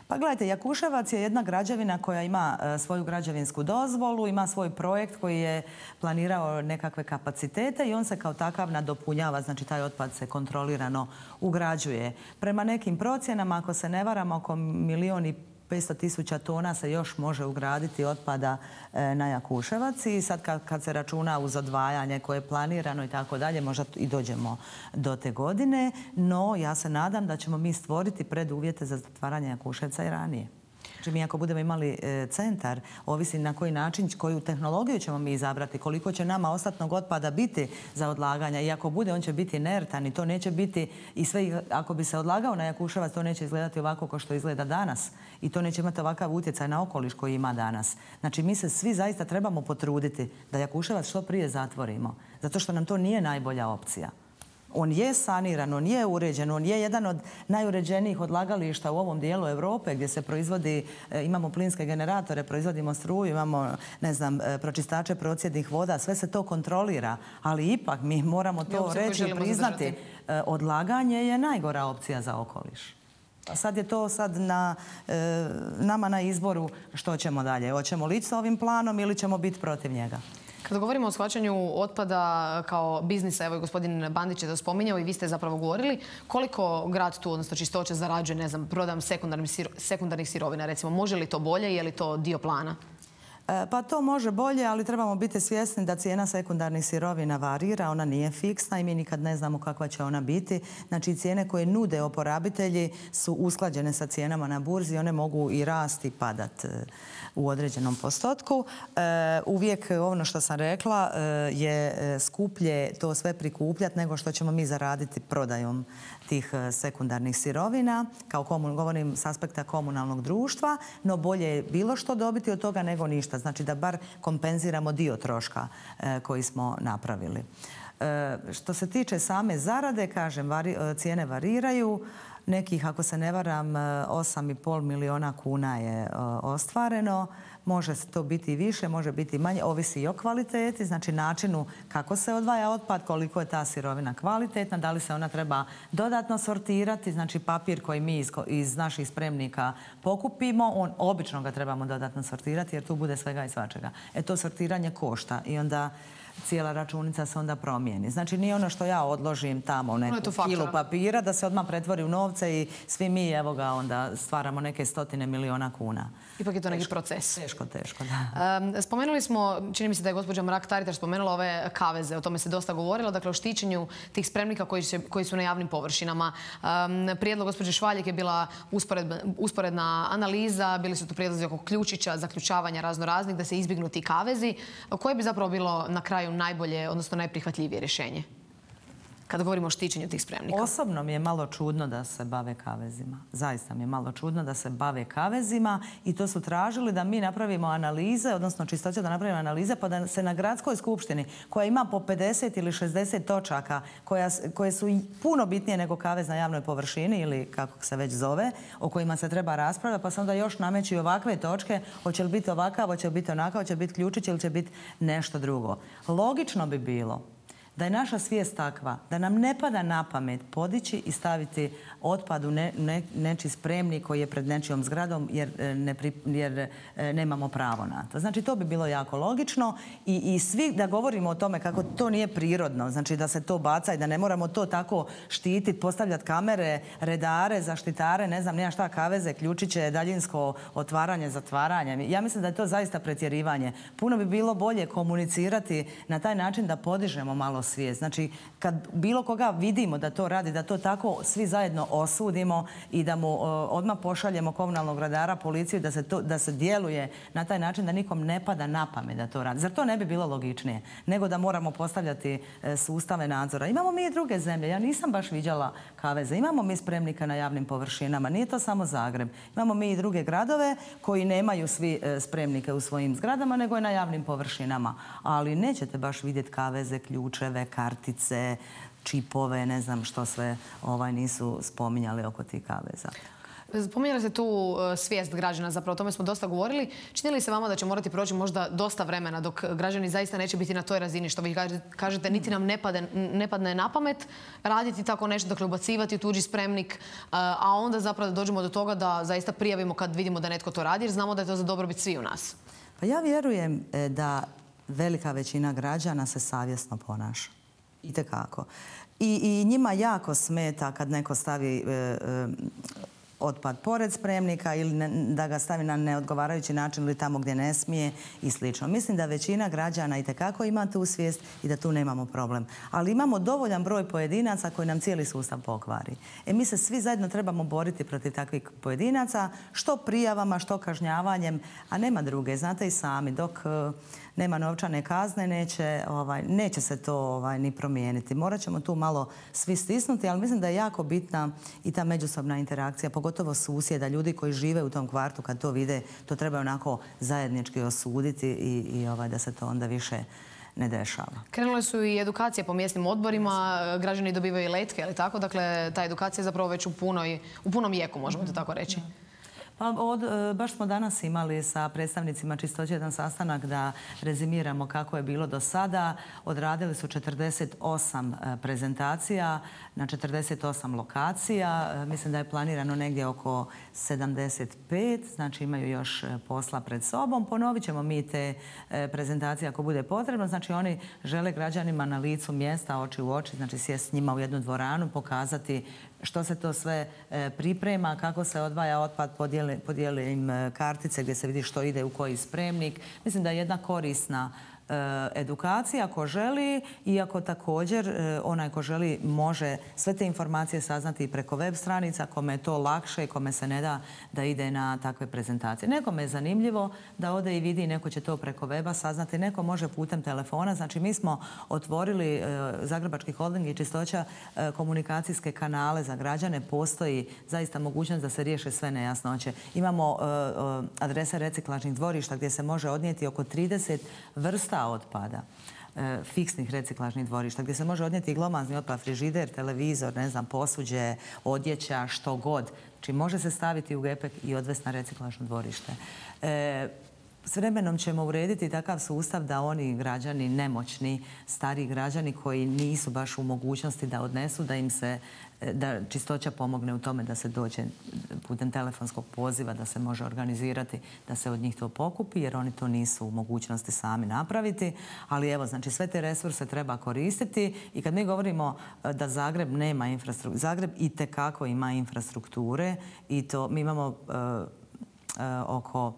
Pa gledajte, Jakuševac je jedna građevina koja ima uh, svoju građevinsku dozvolu, ima svoj projekt koji je planirao nekakve kapacitete i on se kao takav nadopunjava, znači taj otpad se kontrolirano ugrađuje. Prema nekim procjenama, ako se ne varam, oko milijon i petsto tisuća tona se još može ugraditi otpada na Jakuševac i sad kad, kad se računa uz odvajanje koje je planirano i tako dalje, možda i dođemo do te godine, no ja se nadam da ćemo mi stvoriti preduvjete za zatvaranje Jakuševca i ranije. Znači mi ako budemo imali e, centar, ovisi na koji način, koju tehnologiju ćemo mi izabrati, koliko će nama ostatnog otpada biti za odlaganje i ako bude, on će biti inertan i to neće biti, i sve ako bi se odlagao na Jakuševac, to neće izgledati ovako kao što izgleda danas i to neće imati ovakav utjecaj na okoliš koji ima danas. Znači mi se svi zaista trebamo potruditi da Jakuševac što prije zatvorimo, zato što nam to nije najbolja opcija. On je saniran, on je uređen, on je jedan od najuređenijih odlagališta u ovom dijelu Europe gdje se proizvodi, imamo plinske generatore, proizvodimo struju, imamo, ne znam, pročistače procjednih voda, sve se to kontrolira, ali ipak mi moramo to reći i priznati. Odlaganje je najgora opcija za okoliš. Sad je to sad na, e, nama na izboru što ćemo dalje. Hoćemo li ići sa ovim planom ili ćemo biti protiv njega? Kada govorimo o shvaćanju otpada kao biznisa, evo i gospodin Bandić je to spominjao i vi ste zapravo govorili, koliko grad tu, odnosno Čistoća, zarađuje, ne znam, prodajom sekundarnih sirovina, recimo, može li to bolje, je li to dio plana? Pa to može bolje, ali trebamo biti svjesni da cijena sekundarnih sirovina varira, ona nije fiksna i mi nikad ne znamo kakva će ona biti. Znači cijene koje nude oporabitelji su usklađene sa cijenama na burzi, one mogu i rasti i padat u određenom postotku. Uvijek ono što sam rekla je skuplje to sve prikupljati nego što ćemo mi zaraditi prodajom tih sekundarnih sirovina, kao govorim s aspekta komunalnog društva, no bolje je bilo što dobiti od toga nego ništa. Znači da bar kompenziramo dio troška e, koji smo napravili. E, što se tiče same zarade, kažem, vari, cijene variraju. Nekih, ako se ne varam, osam i pol milijuna kuna je e, ostvareno. Može to biti i više, može biti i manje, ovisi i o kvaliteti, znači načinu kako se odvaja otpad, koliko je ta sirovina kvalitetna, da li se ona treba dodatno sortirati, znači papir koji mi iz, iz naših spremnika pokupimo, on obično ga trebamo dodatno sortirati jer tu bude svega i svačega. E to sortiranje košta i onda cijela računica se onda promijeni. Znači nije ono što ja odložim tamo u neku kilu papira da se odmah pretvori u novce i svi mi evo ga onda stvaramo neke stotine miliona kuna. Ipak je to neki proces. Teško, teško, da. Um, spomenuli smo, čini mi se da je gospođa Mrak-Taritaš spomenula ove kaveze, o tome se dosta govorilo, dakle o štićenju tih spremnika koji, će, koji su na javnim površinama. Um, prijedlog gospođe Švaljek je bila uspored, usporedna analiza, bili su tu prijedlozi oko ključića, zaključavanja razno raznih, da se izbjegnu ti kavezi. Koje bi zapravo bilo na kraju najbolje, odnosno najprihvatljivije rješenje? Kada govorimo o štićenju tih spremnika. Osobno mi je malo čudno da se bave kavezima. Zaista mi je malo čudno da se bave kavezima i to su tražili da mi napravimo analize, odnosno Čistoća da napravimo analize, pa da se na gradskoj skupštini, koja ima po pedeset ili šezdeset točaka, koja, koje su puno bitnije nego kavez na javnoj površini ili kako se već zove, o kojima se treba raspravljati, pa se onda još nameću i ovakve točke, hoće li biti ovakav, hoće li biti onakav, hoće li biti ključić ili će biti nešto drugo. Logično bi bilo da je naša svijest takva, da nam ne pada na pamet podići i staviti otpad u ne, ne, nečiji spremnik koji je pred nečijom zgradom jer, ne, jer nemamo pravo na to. Znači to bi bilo jako logično i, i svi da govorimo o tome kako to nije prirodno, znači da se to baca i da ne moramo to tako štititi, postavljati kamere, redare, zaštitare, ne znam, nema šta, kaveze, ključiće, daljinsko otvaranje, zatvaranje. Ja mislim da je to zaista pretjerivanje. Puno bi bilo bolje komunicirati na taj način da podižemo malo svijest. Znači, kad bilo koga vidimo da to radi, da to tako svi zajedno osudimo i da mu odmah pošaljemo komunalnog redara, policiju, da se, to, da se djeluje na taj način da nikom ne pada na pamet da to radi. Zar to ne bi bilo logičnije nego da moramo postavljati sustave nadzora? Imamo mi i druge zemlje. Ja nisam baš viđala kaveze. Imamo mi spremnika na javnim površinama. Nije to samo Zagreb. Imamo mi i druge gradove koji nemaju svi spremnike u svojim zgradama, nego i na javnim površinama. Ali nećete baš vidjeti kaveze, ključeve, kartice, čipove, ne znam što sve ovaj, nisu spominjali oko tih kaveza. Spominjali ste tu svijest građana, zapravo o tome smo dosta govorili. Čini li se vama da će morati proći možda dosta vremena dok građani zaista neće biti na toj razini što vi kažete, niti nam ne, pade, ne padne na pamet raditi tako nešto, dakle ubacivati u tuđi spremnik, a onda zapravo da dođemo do toga da zaista prijavimo kad vidimo da netko to radi jer znamo da je to za dobrobit svi u nas. Pa ja vjerujem da velika većina građana se savjesno ponaša. Itekako. I, i njima jako smeta kad neko stavi e, e, otpad pored spremnika ili ne, da ga stavi na neodgovarajući način ili tamo gdje ne smije i slično. Mislim da većina građana itekako ima tu svijest i da tu nemamo problem. Ali imamo dovoljan broj pojedinaca koji nam cijeli sustav pokvari. E mi se svi zajedno trebamo boriti protiv takvih pojedinaca, što prijavama, što kažnjavanjem, a nema druge. Znate i sami, dok nema novčane kazne, neće, ovaj, neće se to ovaj, ni promijeniti. Morat ćemo tu malo svi stisnuti, ali mislim da je jako bitna i ta međusobna interakcija, pogotovo susjeda, ljudi koji žive u tom kvartu, kad to vide, to treba onako zajednički osuditi i, i ovaj, da se to onda više ne dešava. Krenule su i edukacije po mjesnim odborima, građani dobivaju i letke, ali tako? Dakle, ta edukacija je zapravo već u, punoj, u punom jeku, možemo to tako reći. Pa od, baš smo danas imali sa predstavnicima Čistoće jedan sastanak da rezimiramo kako je bilo do sada. Odradili su četrdeset osam prezentacija na četrdeset osam lokacija. Mislim da je planirano negdje oko sedamdeset pet, znači imaju još posla pred sobom. Ponovit ćemo mi te prezentacije ako bude potrebno. Znači oni žele građanima na licu mjesta, oči u oči, znači sjesti s njima u jednu dvoranu, pokazati što se to sve priprema, kako se odvaja otpad, podijeli, podijeli im kartice gdje se vidi što ide u koji spremnik. Mislim da je jedna korisna edukacija ko želi, iako također onaj ko želi može sve te informacije saznati i preko web stranica, kome je to lakše i kome se ne da da ide na takve prezentacije. Nekome je zanimljivo da ode i vidi, neko će to preko weba saznati, neko može putem telefona. Znači mi smo otvorili Zagrebački holding i Čistoća komunikacijske kanale za građane. Postoji zaista mogućnost da se riješe sve nejasnoće. Imamo adrese reciklažnih dvorišta gdje se može odnijeti oko trideset vrsta otpada, fiksnih reciklažnih dvorišta, gdje se može odnijeti i glomazni otpad, frižider, televizor, ne znam, posuđe, odjeća, što god. Znači može se staviti u gepek i odvesti na reciklažno dvorište. E, S vremenom ćemo urediti takav sustav da oni građani, nemoćni, stariji građani koji nisu baš u mogućnosti da odnesu, da im se, da čistoća pomogne u tome da se dođe putem telefonskog poziva, da se može organizirati, da se od njih to pokupi, jer oni to nisu u mogućnosti sami napraviti. Ali evo, znači sve te resurse treba koristiti i kad mi govorimo da Zagreb nema infrastrukture, Zagreb itekako ima infrastrukture i to mi imamo uh, uh, oko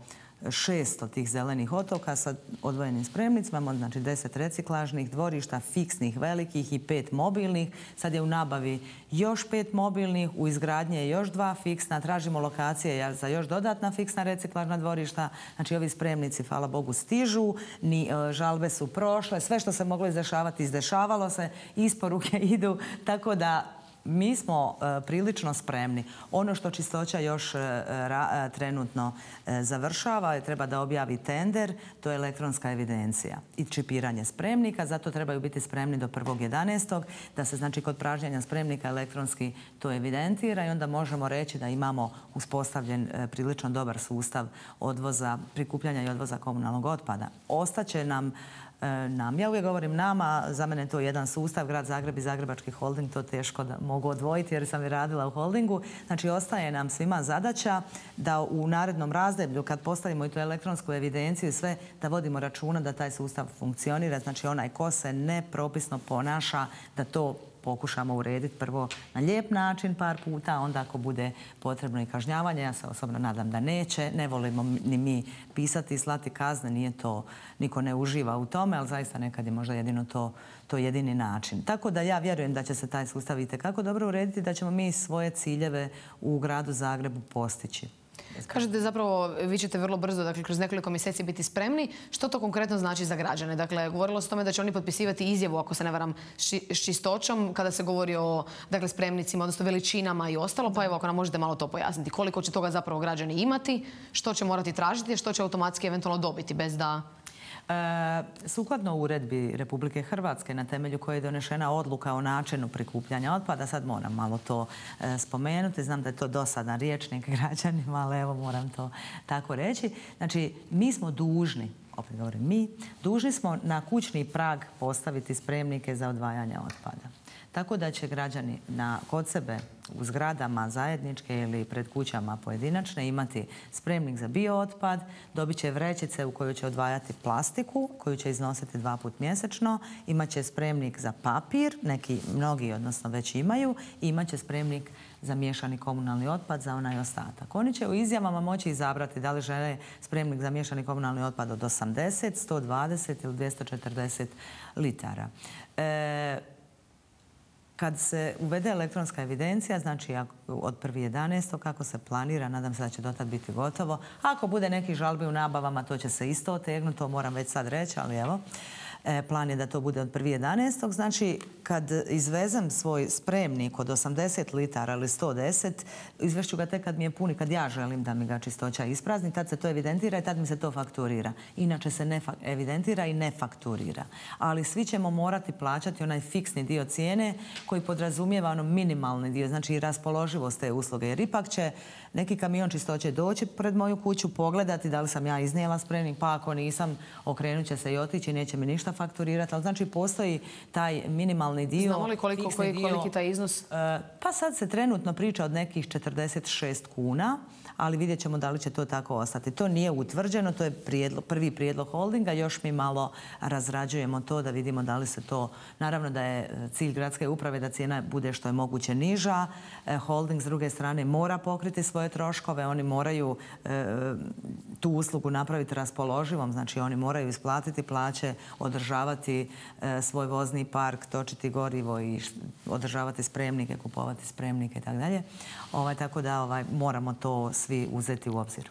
šesto tih zelenih otoka sa odvojenim spremnicima, imamo znači deset reciklažnih dvorišta, fiksnih, velikih i pet mobilnih. Sad je u nabavi još pet mobilnih, u izgradnje je još dva fiksna, tražimo lokacije za još dodatna fiksna reciklažna dvorišta. Znači ovi spremnici, hvala Bogu, stižu, ni e, žalbe su prošle, sve što se moglo izdešavati, izdešavalo se, isporuke idu, tako da mi smo e, prilično spremni. Ono što čistoća još e, ra, trenutno e, završava, treba da objavi tender, to je elektronska evidencija i čipiranje spremnika, zato trebaju biti spremni do prvog jedanaestog da se znači kod pražnjenja spremnika elektronski to evidentira i onda možemo reći da imamo uspostavljen e, prilično dobar sustav odvoza, prikupljanja i odvoza komunalnog otpada. Ostaće nam nam. Ja uvijek govorim nama, za mene je to jedan sustav, Grad Zagreb i Zagrebački holding, to teško da mogu odvojiti jer sam i radila u holdingu. Znači, ostaje nam svima zadaća da u narednom razdoblju, kad postavimo i tu elektronsku evidenciju i sve, da vodimo računa da taj sustav funkcionira. Znači, onaj ko se nepropisno ponaša, da to pokušamo urediti prvo na lijep način par puta, onda ako bude potrebno i kažnjavanje, ja se osobno nadam da neće. Ne volimo ni mi pisati i slati kazne, nije to, niko ne uživa u tome, ali zaista nekad je možda jedino to, to jedini način. Tako da ja vjerujem da će se taj sustav itekako dobro urediti, da ćemo mi svoje ciljeve u gradu Zagrebu postići. Kažete zapravo, vi ćete vrlo brzo, dakle, kroz nekoliko mjeseci biti spremni. Što to konkretno znači za građane? Dakle, govorilo se o tome da će oni potpisivati izjavu, ako se ne varam, s čistoćom, kada se govori o, dakle, spremnicima, odnosno veličinama i ostalo. Pa evo, ako nam možete malo to pojasniti. Koliko će toga zapravo građani imati, što će morati tražiti, što će automatski eventualno dobiti bez da... E, sukladno uredbi Republike Hrvatske na temelju koje je donešena odluka o načinu prikupljanja otpada, sad moram malo to e, spomenuti, znam da je to dosadan rječnik građanima, ali evo moram to tako reći. Znači, mi smo dužni, opet govorim mi, dužni smo na kućni prag postaviti spremnike za odvajanje otpada. Tako da će građani na, kod sebe u zgradama zajedničke ili pred kućama pojedinačne imati spremnik za biootpad, dobit će vrećice u kojoj će odvajati plastiku, koju će iznositi dva put mjesečno, imat će spremnik za papir, neki mnogi odnosno već imaju, i imat će spremnik za miješani komunalni otpad za onaj ostatak. Oni će u izjavama moći izabrati da li žele spremnik za miješani komunalni otpad od osamdeset, sto dvadeset ili dvjesto četrdeset litara. E, Kad se uvede elektronska evidencija, znači od prvog jedanaestog kako se planira, nadam se da će dotad biti gotovo. Ako bude nekih žalbi u nabavama, to će se isto otegnuti, to moram već sad reći, ali evo. Plan je da to bude od prvog jedanaestog Znači, kad izvezem svoj spremnik od osamdeset litara ili sto deset, izvešću ga tek kad mi je puni, kad ja želim da mi ga čistoća isprazni, tad se to evidentira i tad mi se to fakturira. Inače se ne evidentira i ne fakturira. Ali svi ćemo morati plaćati onaj fiksni dio cijene koji podrazumijeva ono minimalni dio, znači i raspoloživost te usluge. Jer ipak će neki kamion čistoće doći pred moju kuću, pogledati da li sam ja iznijela spremnik, pa ako nisam, okrenut će se i otići, neće mi ništa fakturirati. Ali znači postoji taj minimalni dio. Znamo li koliko, koji, koliki taj iznos? Pa sad se trenutno priča od nekih četrdeset šest kuna, ali vidjet ćemo da li će to tako ostati. To nije utvrđeno, to je prijedlog, prvi prijedlog holdinga, još mi malo razrađujemo to da vidimo da li se to... Naravno da je cilj gradske uprave da cijena bude što je moguće niža. Holding s druge strane mora pokriti svoje troškove, oni moraju e, tu uslugu napraviti raspoloživom, znači oni moraju isplatiti plaće, održavati e, svoj vozni park, točiti gorivo i održavati spremnike, kupovati spremnike i tako dalje. Ovaj, tako da ovaj, moramo to svi uzeti u obzir.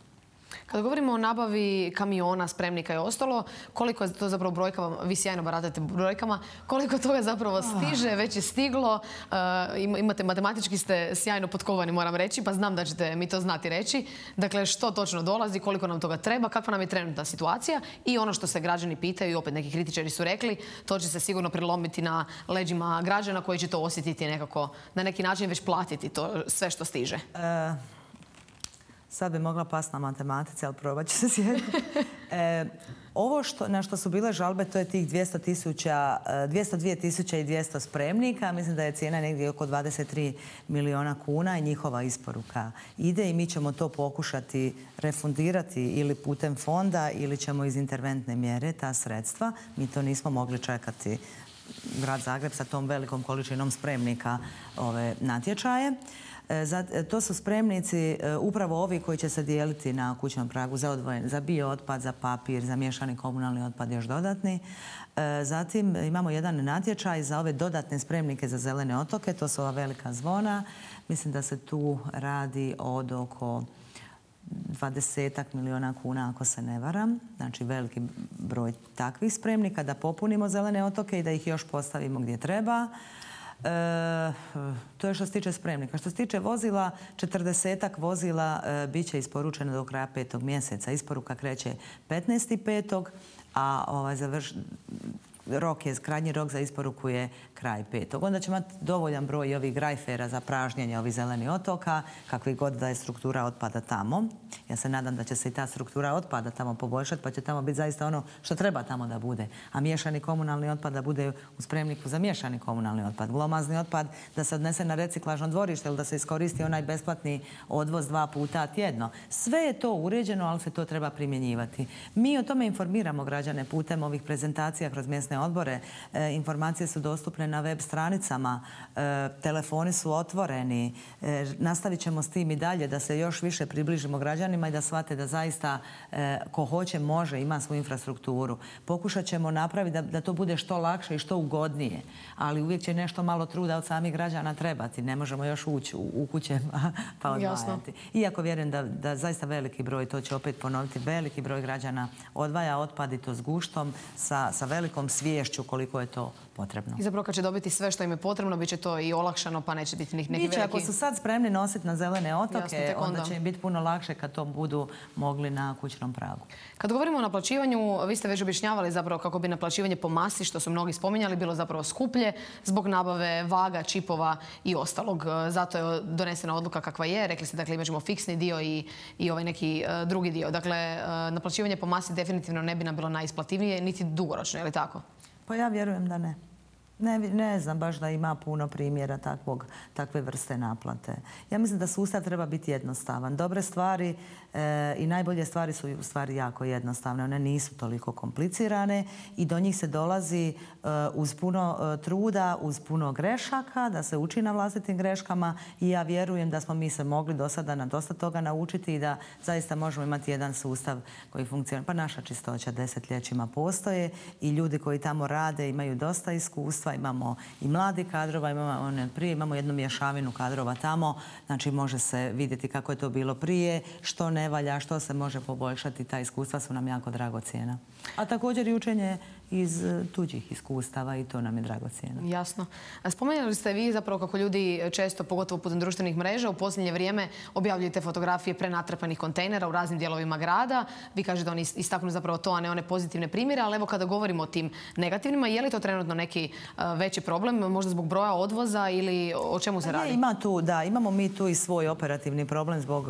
Kada govorimo o nabavi kamiona, spremnika i ostalo, koliko je to zapravo brojkama, vi sjajno baratate brojkama, koliko toga zapravo stiže, već je stiglo, imate, matematički ste sjajno potkovani, moram reći, pa znam da ćete mi to znati reći. Dakle, što točno dolazi, koliko nam toga treba, kakva nam je trenutna situacija i ono što se građani pitaju, i opet neki kritičari su rekli, to će se sigurno prilomiti na leđima građana koji će to osjetiti nekako, na neki način već platiti to sve što stiže. Sad bi mogla past na matematici, ali probat ću se sjetiti. E, ovo što, na što su bile žalbe, to je tih dvjesto tisuća, dvjesto dvije tisuće i dvjesto spremnika. Mislim da je cijena negdje oko dvadeset tri milijuna kuna i njihova isporuka ide i mi ćemo to pokušati refundirati ili putem fonda ili ćemo iz interventne mjere ta sredstva. Mi to nismo mogli čekati, Grad Zagreb sa tom velikom količinom spremnika ove natječaje. To su spremnici upravo ovi koji će se dijeliti na kućnom pragu za, odvojen, za biootpad, za papir, za miješani komunalni otpad još dodatni. Zatim imamo jedan natječaj za ove dodatne spremnike za zelene otoke, to su ova velika zvona. Mislim da se tu radi od oko dvadesetak milijuna kuna ako se ne varam. Znači veliki broj takvih spremnika da popunimo zelene otoke i da ih još postavimo gdje treba. E, to je što se tiče spremnika. Što se tiče vozila, četrdesetak vozila e, bit će isporučeno do kraja petog mjeseca. Isporuka kreće petnaestog petog a ovaj, završ, rok je, krajnji rok za isporuku je kraj petog. Onda ćemo imati dovoljan broj ovih grajfera za pražnjenje ovih zelenih otoka, kakvi god da je struktura otpada tamo. Ja se nadam da će se i ta struktura otpada tamo poboljšati, pa će tamo biti zaista ono što treba tamo da bude. A miješani komunalni otpad da bude u spremniku za miješani komunalni otpad. Glomazni otpad da se odnese na reciklažno dvorište ili da se iskoristi onaj besplatni odvoz dva puta tjedno. Sve je to uređeno, ali se to treba primjenjivati. Mi o tome informiramo građane putem ovih prezentacija kroz mjesne odbore. E, informacije su dostupne na web stranicama, e, telefoni su otvoreni. E, nastavit ćemo s tim i dalje da se još više približimo građanima i da shvate da zaista e, ko hoće može, ima svoju infrastrukturu. Pokušat ćemo napraviti da, da to bude što lakše i što ugodnije, ali uvijek će nešto malo truda od samih građana trebati. Ne možemo još ući u, u kuće pa odvajati. Iako vjerujem da, da zaista veliki broj, to će opet ponoviti, veliki broj građana odvaja otpad i to s guštom, sa, sa velikom sviješću koliko je to potrebno. I zapravo kad će dobiti sve što im je potrebno, bit će to i olakšano, pa neće biti neki veliki... Biće, ako su sad spremni nositi na zelene otoke, Jasno, onda. onda će im biti puno lakše kad to budu mogli na kućnom pragu. Kad govorimo o naplaćivanju, vi ste već objašnjavali zapravo kako bi naplaćivanje po masi, što su mnogi spominjali, bilo zapravo skuplje zbog nabave vaga, čipova i ostalog. Zato je donesena odluka kakva je. Rekli ste, dakle, imat ćemo fiksni dio i, i ovaj neki uh, drugi dio. Dakle, uh, naplaćivanje po masi definitivno ne bi nam bilo najisplativnije, niti dugoročno, je li tako? Pa ja vjerujem da ne. Ne, ne znam baš da ima puno primjera takvog, takve vrste naplate. Ja mislim da sustav treba biti jednostavan. Dobre stvari e, i najbolje stvari su u stvari jako jednostavne. One nisu toliko komplicirane i do njih se dolazi e, uz puno e, truda, uz puno grešaka, da se uči na vlastitim greškama i ja vjerujem da smo mi se mogli do sada na dosta toga naučiti i da zaista možemo imati jedan sustav koji funkcionira. Pa naša čistoća desetljećima postoje i ljudi koji tamo rade imaju dosta iskustva. Imamo i mladi kadrova, imamo, one prije, imamo jednu mješavinu kadrova tamo, znači može se vidjeti kako je to bilo prije, što ne valja, što se može poboljšati, ta iskustva su nam jako dragocjena. A također i učenje iz tuđih iskustava i to nam je dragocjeno. Jasno. Spomenuli ste vi zapravo kako ljudi često, pogotovo putem društvenih mreža, u posljednje vrijeme objavljujete fotografije prenatrpanih kontejnera u raznim dijelovima grada. Vi kažete da oni istaknu zapravo to, a ne one pozitivne primjere, ali evo kada govorimo o tim negativnima, je li to trenutno neki veći problem, možda zbog broja odvoza ili o čemu se radi? Ne, ima tu, da, imamo mi tu i svoj operativni problem zbog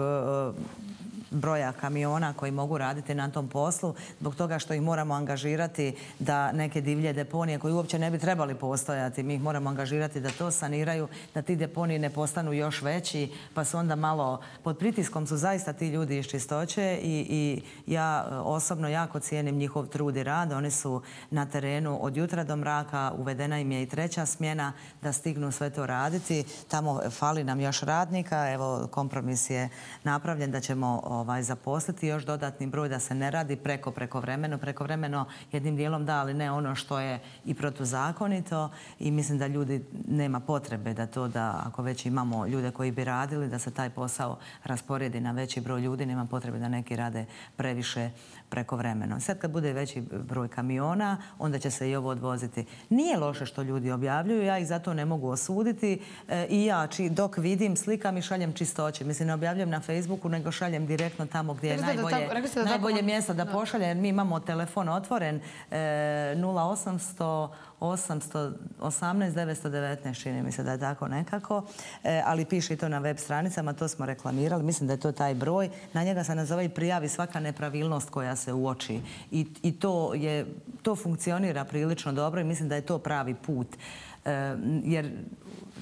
broja kamiona koji mogu raditi na tom poslu, zbog toga što ih moramo angažirati da neke divlje deponije koji uopće ne bi trebali postojati, mi ih moramo angažirati da to saniraju, da ti deponiji ne postanu još veći, pa su onda malo pod pritiskom su zaista ti ljudi iz čistoće i, i ja osobno jako cijenim njihov trud i rad. Oni su na terenu od jutra do mraka, uvedena im je i treća smjena da stignu sve to raditi. Tamo fali nam još radnika, evo kompromis je napravljen da ćemo ovaj, zaposliti još dodatni broj, da se ne radi preko prekovremeno. Prekovremeno jednim dijelom da, ali ne ono što je i protuzakonito i mislim da ljudi nema potrebe da to da ako već imamo ljude koji bi radili, da se taj posao rasporedi na veći broj ljudi, nema potrebe da neki rade previše prekovremeno. Sad kad bude veći broj kamiona, onda će se i ovo odvoziti. Nije loše što ljudi objavljuju, ja ih zato ne mogu osuditi e, i ja či, dok vidim slikam i šaljem čistoće. Mislim, ne objavljujem na Facebooku, nego šaljem direkt direktno tamo gdje je Rekli ste da najbolje, tako- rekli ste da najbolje tako- mjesto da da. pošalje, jer mi imamo telefon otvoren e, nula osamsto osamsto osamnaest devetsto devetnaest, čini mi se da je tako nekako, e, ali piše i to na web stranicama, to smo reklamirali, mislim da je to taj broj. Na njega se nazove i prijavi svaka nepravilnost koja se uoči i, i to, je, to funkcionira prilično dobro i mislim da je to pravi put. E, jer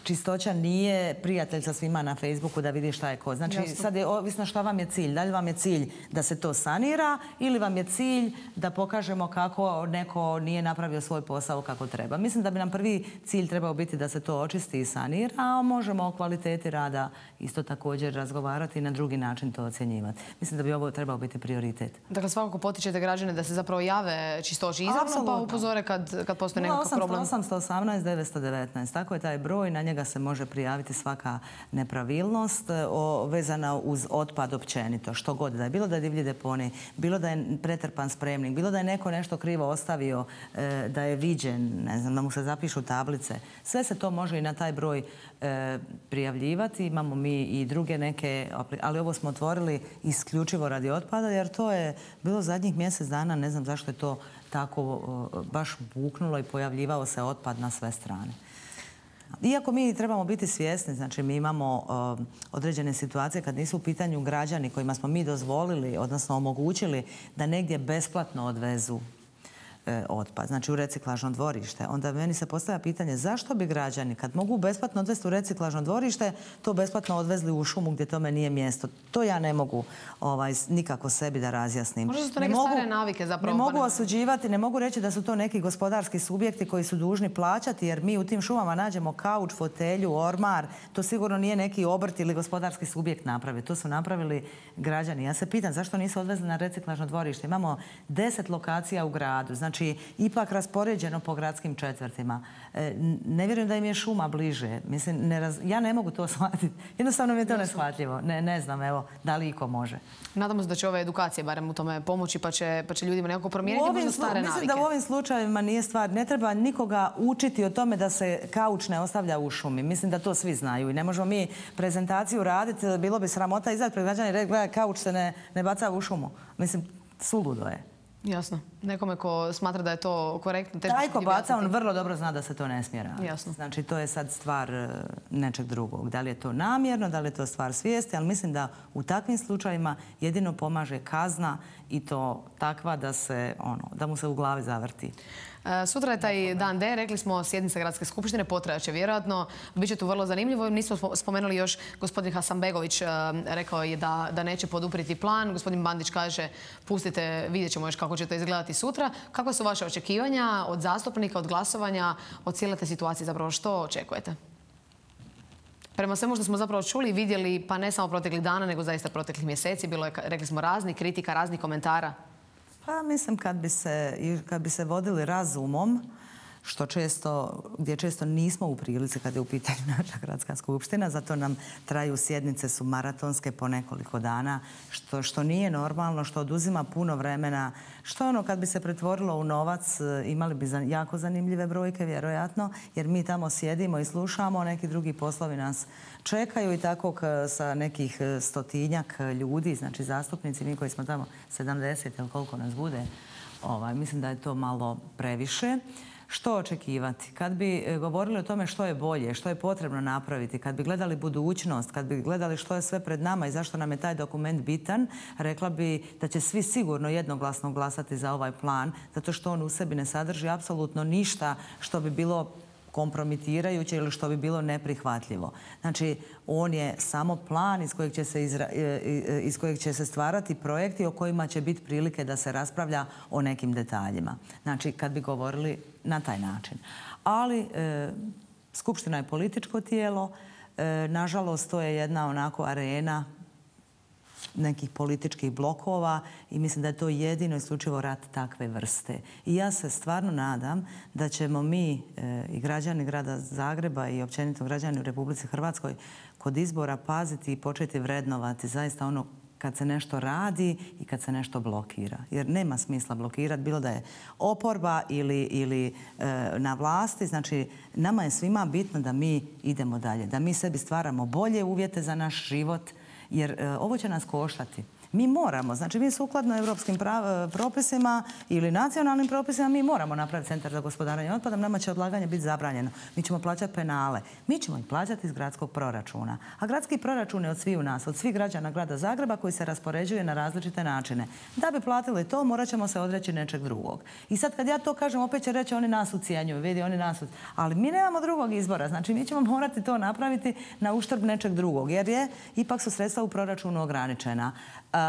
čistoća nije prijatelj sa svima na Facebooku da vidi šta je ko. Znači, Jasno. sad je ovisno šta vam je cilj. Da li vam je cilj da se to sanira ili vam je cilj da pokažemo kako neko nije napravio svoj posao kako treba. Mislim da bi nam prvi cilj trebao biti da se to očisti i sanira, a možemo o kvaliteti rada isto također razgovarati i na drugi način to ocjenjivati. Mislim da bi ovo trebao biti prioritet. Dakle, svakako potičete građane da se zapravo jave čistoći izravno, pa Apsolutno. upozore kad, kad postoji nekakav problem. osamsto osamnaest devetsto devetnaest, tako je taj broj, na njega se može prijaviti svaka nepravilnost o, vezana uz otpad općenito, što god da je. Bilo da je divlji deponij, bilo da je pretrpan spremnik, bilo da je neko nešto krivo ostavio, e, da je viđen, ne znam, da mu se zapišu tablice. Sve se to može i na taj broj e, prijavljivati. Imamo mi i druge neke, ali ovo smo otvorili isključivo radi otpada, jer to je bilo zadnjih mjesec dana, ne znam zašto je to tako o, baš buknulo i pojavljivao se otpad na sve strane. Iako mi trebamo biti svjesni, znači mi imamo uh, određene situacije kad nisu u pitanju građani kojima smo mi dozvolili, odnosno omogućili da negdje besplatno odvezu e, otpad, znači u reciklažno dvorište. Onda meni se postavlja pitanje zašto bi građani kad mogu besplatno odvesti u reciklažno dvorište to besplatno odvezli u šumu gdje tome nije mjesto. To ja ne mogu ovaj, nikako sebi da razjasnim. Možda su to Ne neke mogu- stare navike zapravo. Ne pa mogu ne- osuđivati, ne mogu reći da su to neki gospodarski subjekti koji su dužni plaćati, jer mi u tim šumama nađemo kauč, fotelju, ormar. To sigurno nije neki obrt ili gospodarski subjekt napravio. To su napravili građani. Ja se pitam zašto nisu odvezli na reciklažno dvorište. Imamo deset lokacija u gradu, znači ipak raspoređeno po gradskim četvrtima. E, n- ne vjerujem da im je šuma bliže. Mislim, ne raz- ja ne mogu to shvatiti. Jednostavno mi je to neshvatljivo. Ne, ne znam, evo, da li iko može. Nadamo se da će ove edukacije barem u tome pomoći, pa će, pa će ljudima nekako U promijeniti ovim možda slu- stare mislim navike. da u ovim slučajevima nije stvar, ne treba nikoga učiti o tome da se kauč ne ostavlja u šumi. Mislim da to svi znaju i ne možemo mi prezentaciju raditi, bilo bi sramota izaći pred građane i reći gledaj, kauč se ne, ne baca u šumu. Mislim, suludo je. Jasno. Nekome ko smatra da je to korektno, teško Taj će ko ti baca, on objasniti. vrlo dobro zna da se to ne smije raditi. Jasno. Znači, to je sad stvar e, nečeg drugog. Da li je to namjerno, da li je to stvar svijesti, ali mislim da u takvim slučajima jedino pomaže kazna i to takva da se, ono, da mu se u glavi zavrti. E, Sutra je taj dan D, rekli smo sjednica Gradske skupštine, potrajaće vjerojatno. Biće tu vrlo zanimljivo. Nismo spo- spomenuli još, gospodin Hasanbegović e, rekao je da, da neće podupriti plan. Gospodin Bandić kaže pustite, vidjet ćemo još kako će to izgledati sutra. Kakve su vaše očekivanja od zastupnika, od glasovanja, od cijele te situacije? Zapravo što očekujete? Prema svemu što smo zapravo čuli i vidjeli, pa ne samo proteklih dana, nego zaista proteklih mjeseci, bilo je, rekli smo, raznih kritika, raznih komentara. Pa mislim kad bi se, i kad bi se vodili razumom, što često, gdje često nismo u prilici kad je u pitanju naša gradska skupština, zato nam traju sjednice, su maratonske po nekoliko dana, što, što nije normalno, što oduzima puno vremena, što ono kad bi se pretvorilo u novac, imali bi za- jako zanimljive brojke, vjerojatno, jer mi tamo sjedimo i slušamo, neki drugi poslovi nas čekaju i tako k- sa nekih stotinjak ljudi, znači zastupnici, mi koji smo tamo sedamdeset ili koliko nas bude, ovaj, mislim da je to malo previše. Što očekivati? Kad bi e, govorili o tome što je bolje, što je potrebno napraviti, kad bi gledali budućnost, kad bi gledali što je sve pred nama i zašto nam je taj dokument bitan, rekla bi da će svi sigurno jednoglasno glasati za ovaj plan, zato što on u sebi ne sadrži apsolutno ništa što bi bilo kompromitirajuće ili što bi bilo neprihvatljivo. Znači, on je samo plan iz kojeg će se, izra- e, e, iz kojeg će se stvarati projekti o kojima će biti prilike da se raspravlja o nekim detaljima. Znači, kad bi govorili na taj način. Ali, e, Skupština je političko tijelo. E, nažalost, to je jedna onako arena nekih političkih blokova i mislim da je to jedino isključivo rat takve vrste. I ja se stvarno nadam da ćemo mi e, i građani grada Zagreba i općenito građani u Republici Hrvatskoj kod izbora paziti i početi vrednovati zaista ono kad se nešto radi i kad se nešto blokira. Jer nema smisla blokirati, bilo da je oporba ili, ili e, na vlasti. Znači, nama je svima bitno da mi idemo dalje, da mi sebi stvaramo bolje uvjete za naš život, jer e, ovo će nas koštati. Mi moramo, znači mi sukladno europskim propisima ili nacionalnim propisima, mi moramo napraviti centar za gospodarenje otpadom, nama će odlaganje biti zabranjeno. Mi ćemo plaćati penale. Mi ćemo ih plaćati iz gradskog proračuna. A gradski proračun je od svih u nas, od svih građana grada Zagreba koji se raspoređuje na različite načine. Da bi platili to, morat ćemo se odreći nečeg drugog. I sad kad ja to kažem, opet će reći oni nas ucijenjuju, vidi oni nas ucijenjuju. Ali mi nemamo drugog izbora. Znači mi ćemo morati to napraviti na uštrb nečeg drugog, jer je ipak su sredstva u proračunu ograničena. Uh,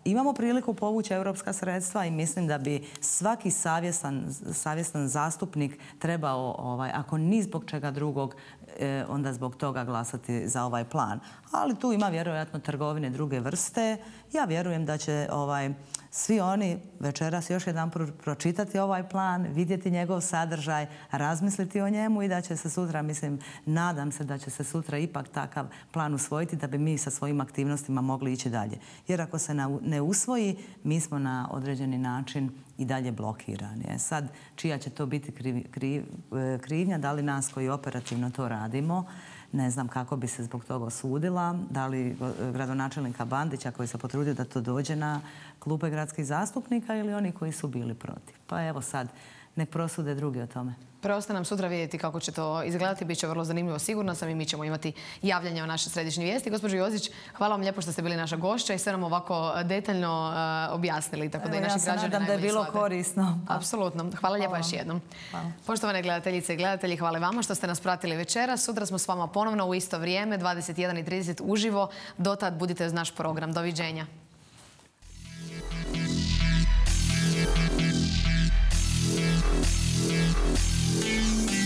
imamo priliku povući europska sredstva i mislim da bi svaki savjestan, savjestan zastupnik trebao, ovaj, ako ni zbog čega drugog, eh, onda zbog toga glasati za ovaj plan. Ali tu ima vjerojatno trgovine druge vrste. Ja vjerujem da će ovaj, svi oni večeras još jedan pročitati ovaj plan, vidjeti njegov sadržaj, razmisliti o njemu i da će se sutra, mislim, nadam se da će se sutra ipak takav plan usvojiti da bi mi sa svojim aktivnostima mogli ići dalje. Jer ako se ne usvoji, mi smo na određeni način i dalje blokirani. E sad, čija će to biti kriv, kriv, krivnja, da li nas koji operativno to radimo, ne znam kako bi se zbog toga osudila, da li gradonačelnika Bandića koji se potrudio da to dođe na klupe gradskih zastupnika ili oni koji su bili protiv. Pa evo sad, nek prosude drugi o tome. Preostaje nam sutra vidjeti kako će to izgledati. Biće vrlo zanimljivo, sigurno sam, i mi ćemo imati javljanje o naše središnje vijesti. Gospođo Jozić, hvala vam lijepo što ste bili naša gošća i sve nam ovako detaljno uh, objasnili. Tako da i naši građani ja se nadam da je bilo korisno. Apsolutno. Hvala lijepo još jednom. Hvala. Poštovane gledateljice i gledatelji, hvala vama što ste nas pratili večera. Sutra smo s vama ponovno u isto vrijeme, dvadeset jedan i trideset uživo. Dotad budite uz naš program. Doviđenja. We'll be right back.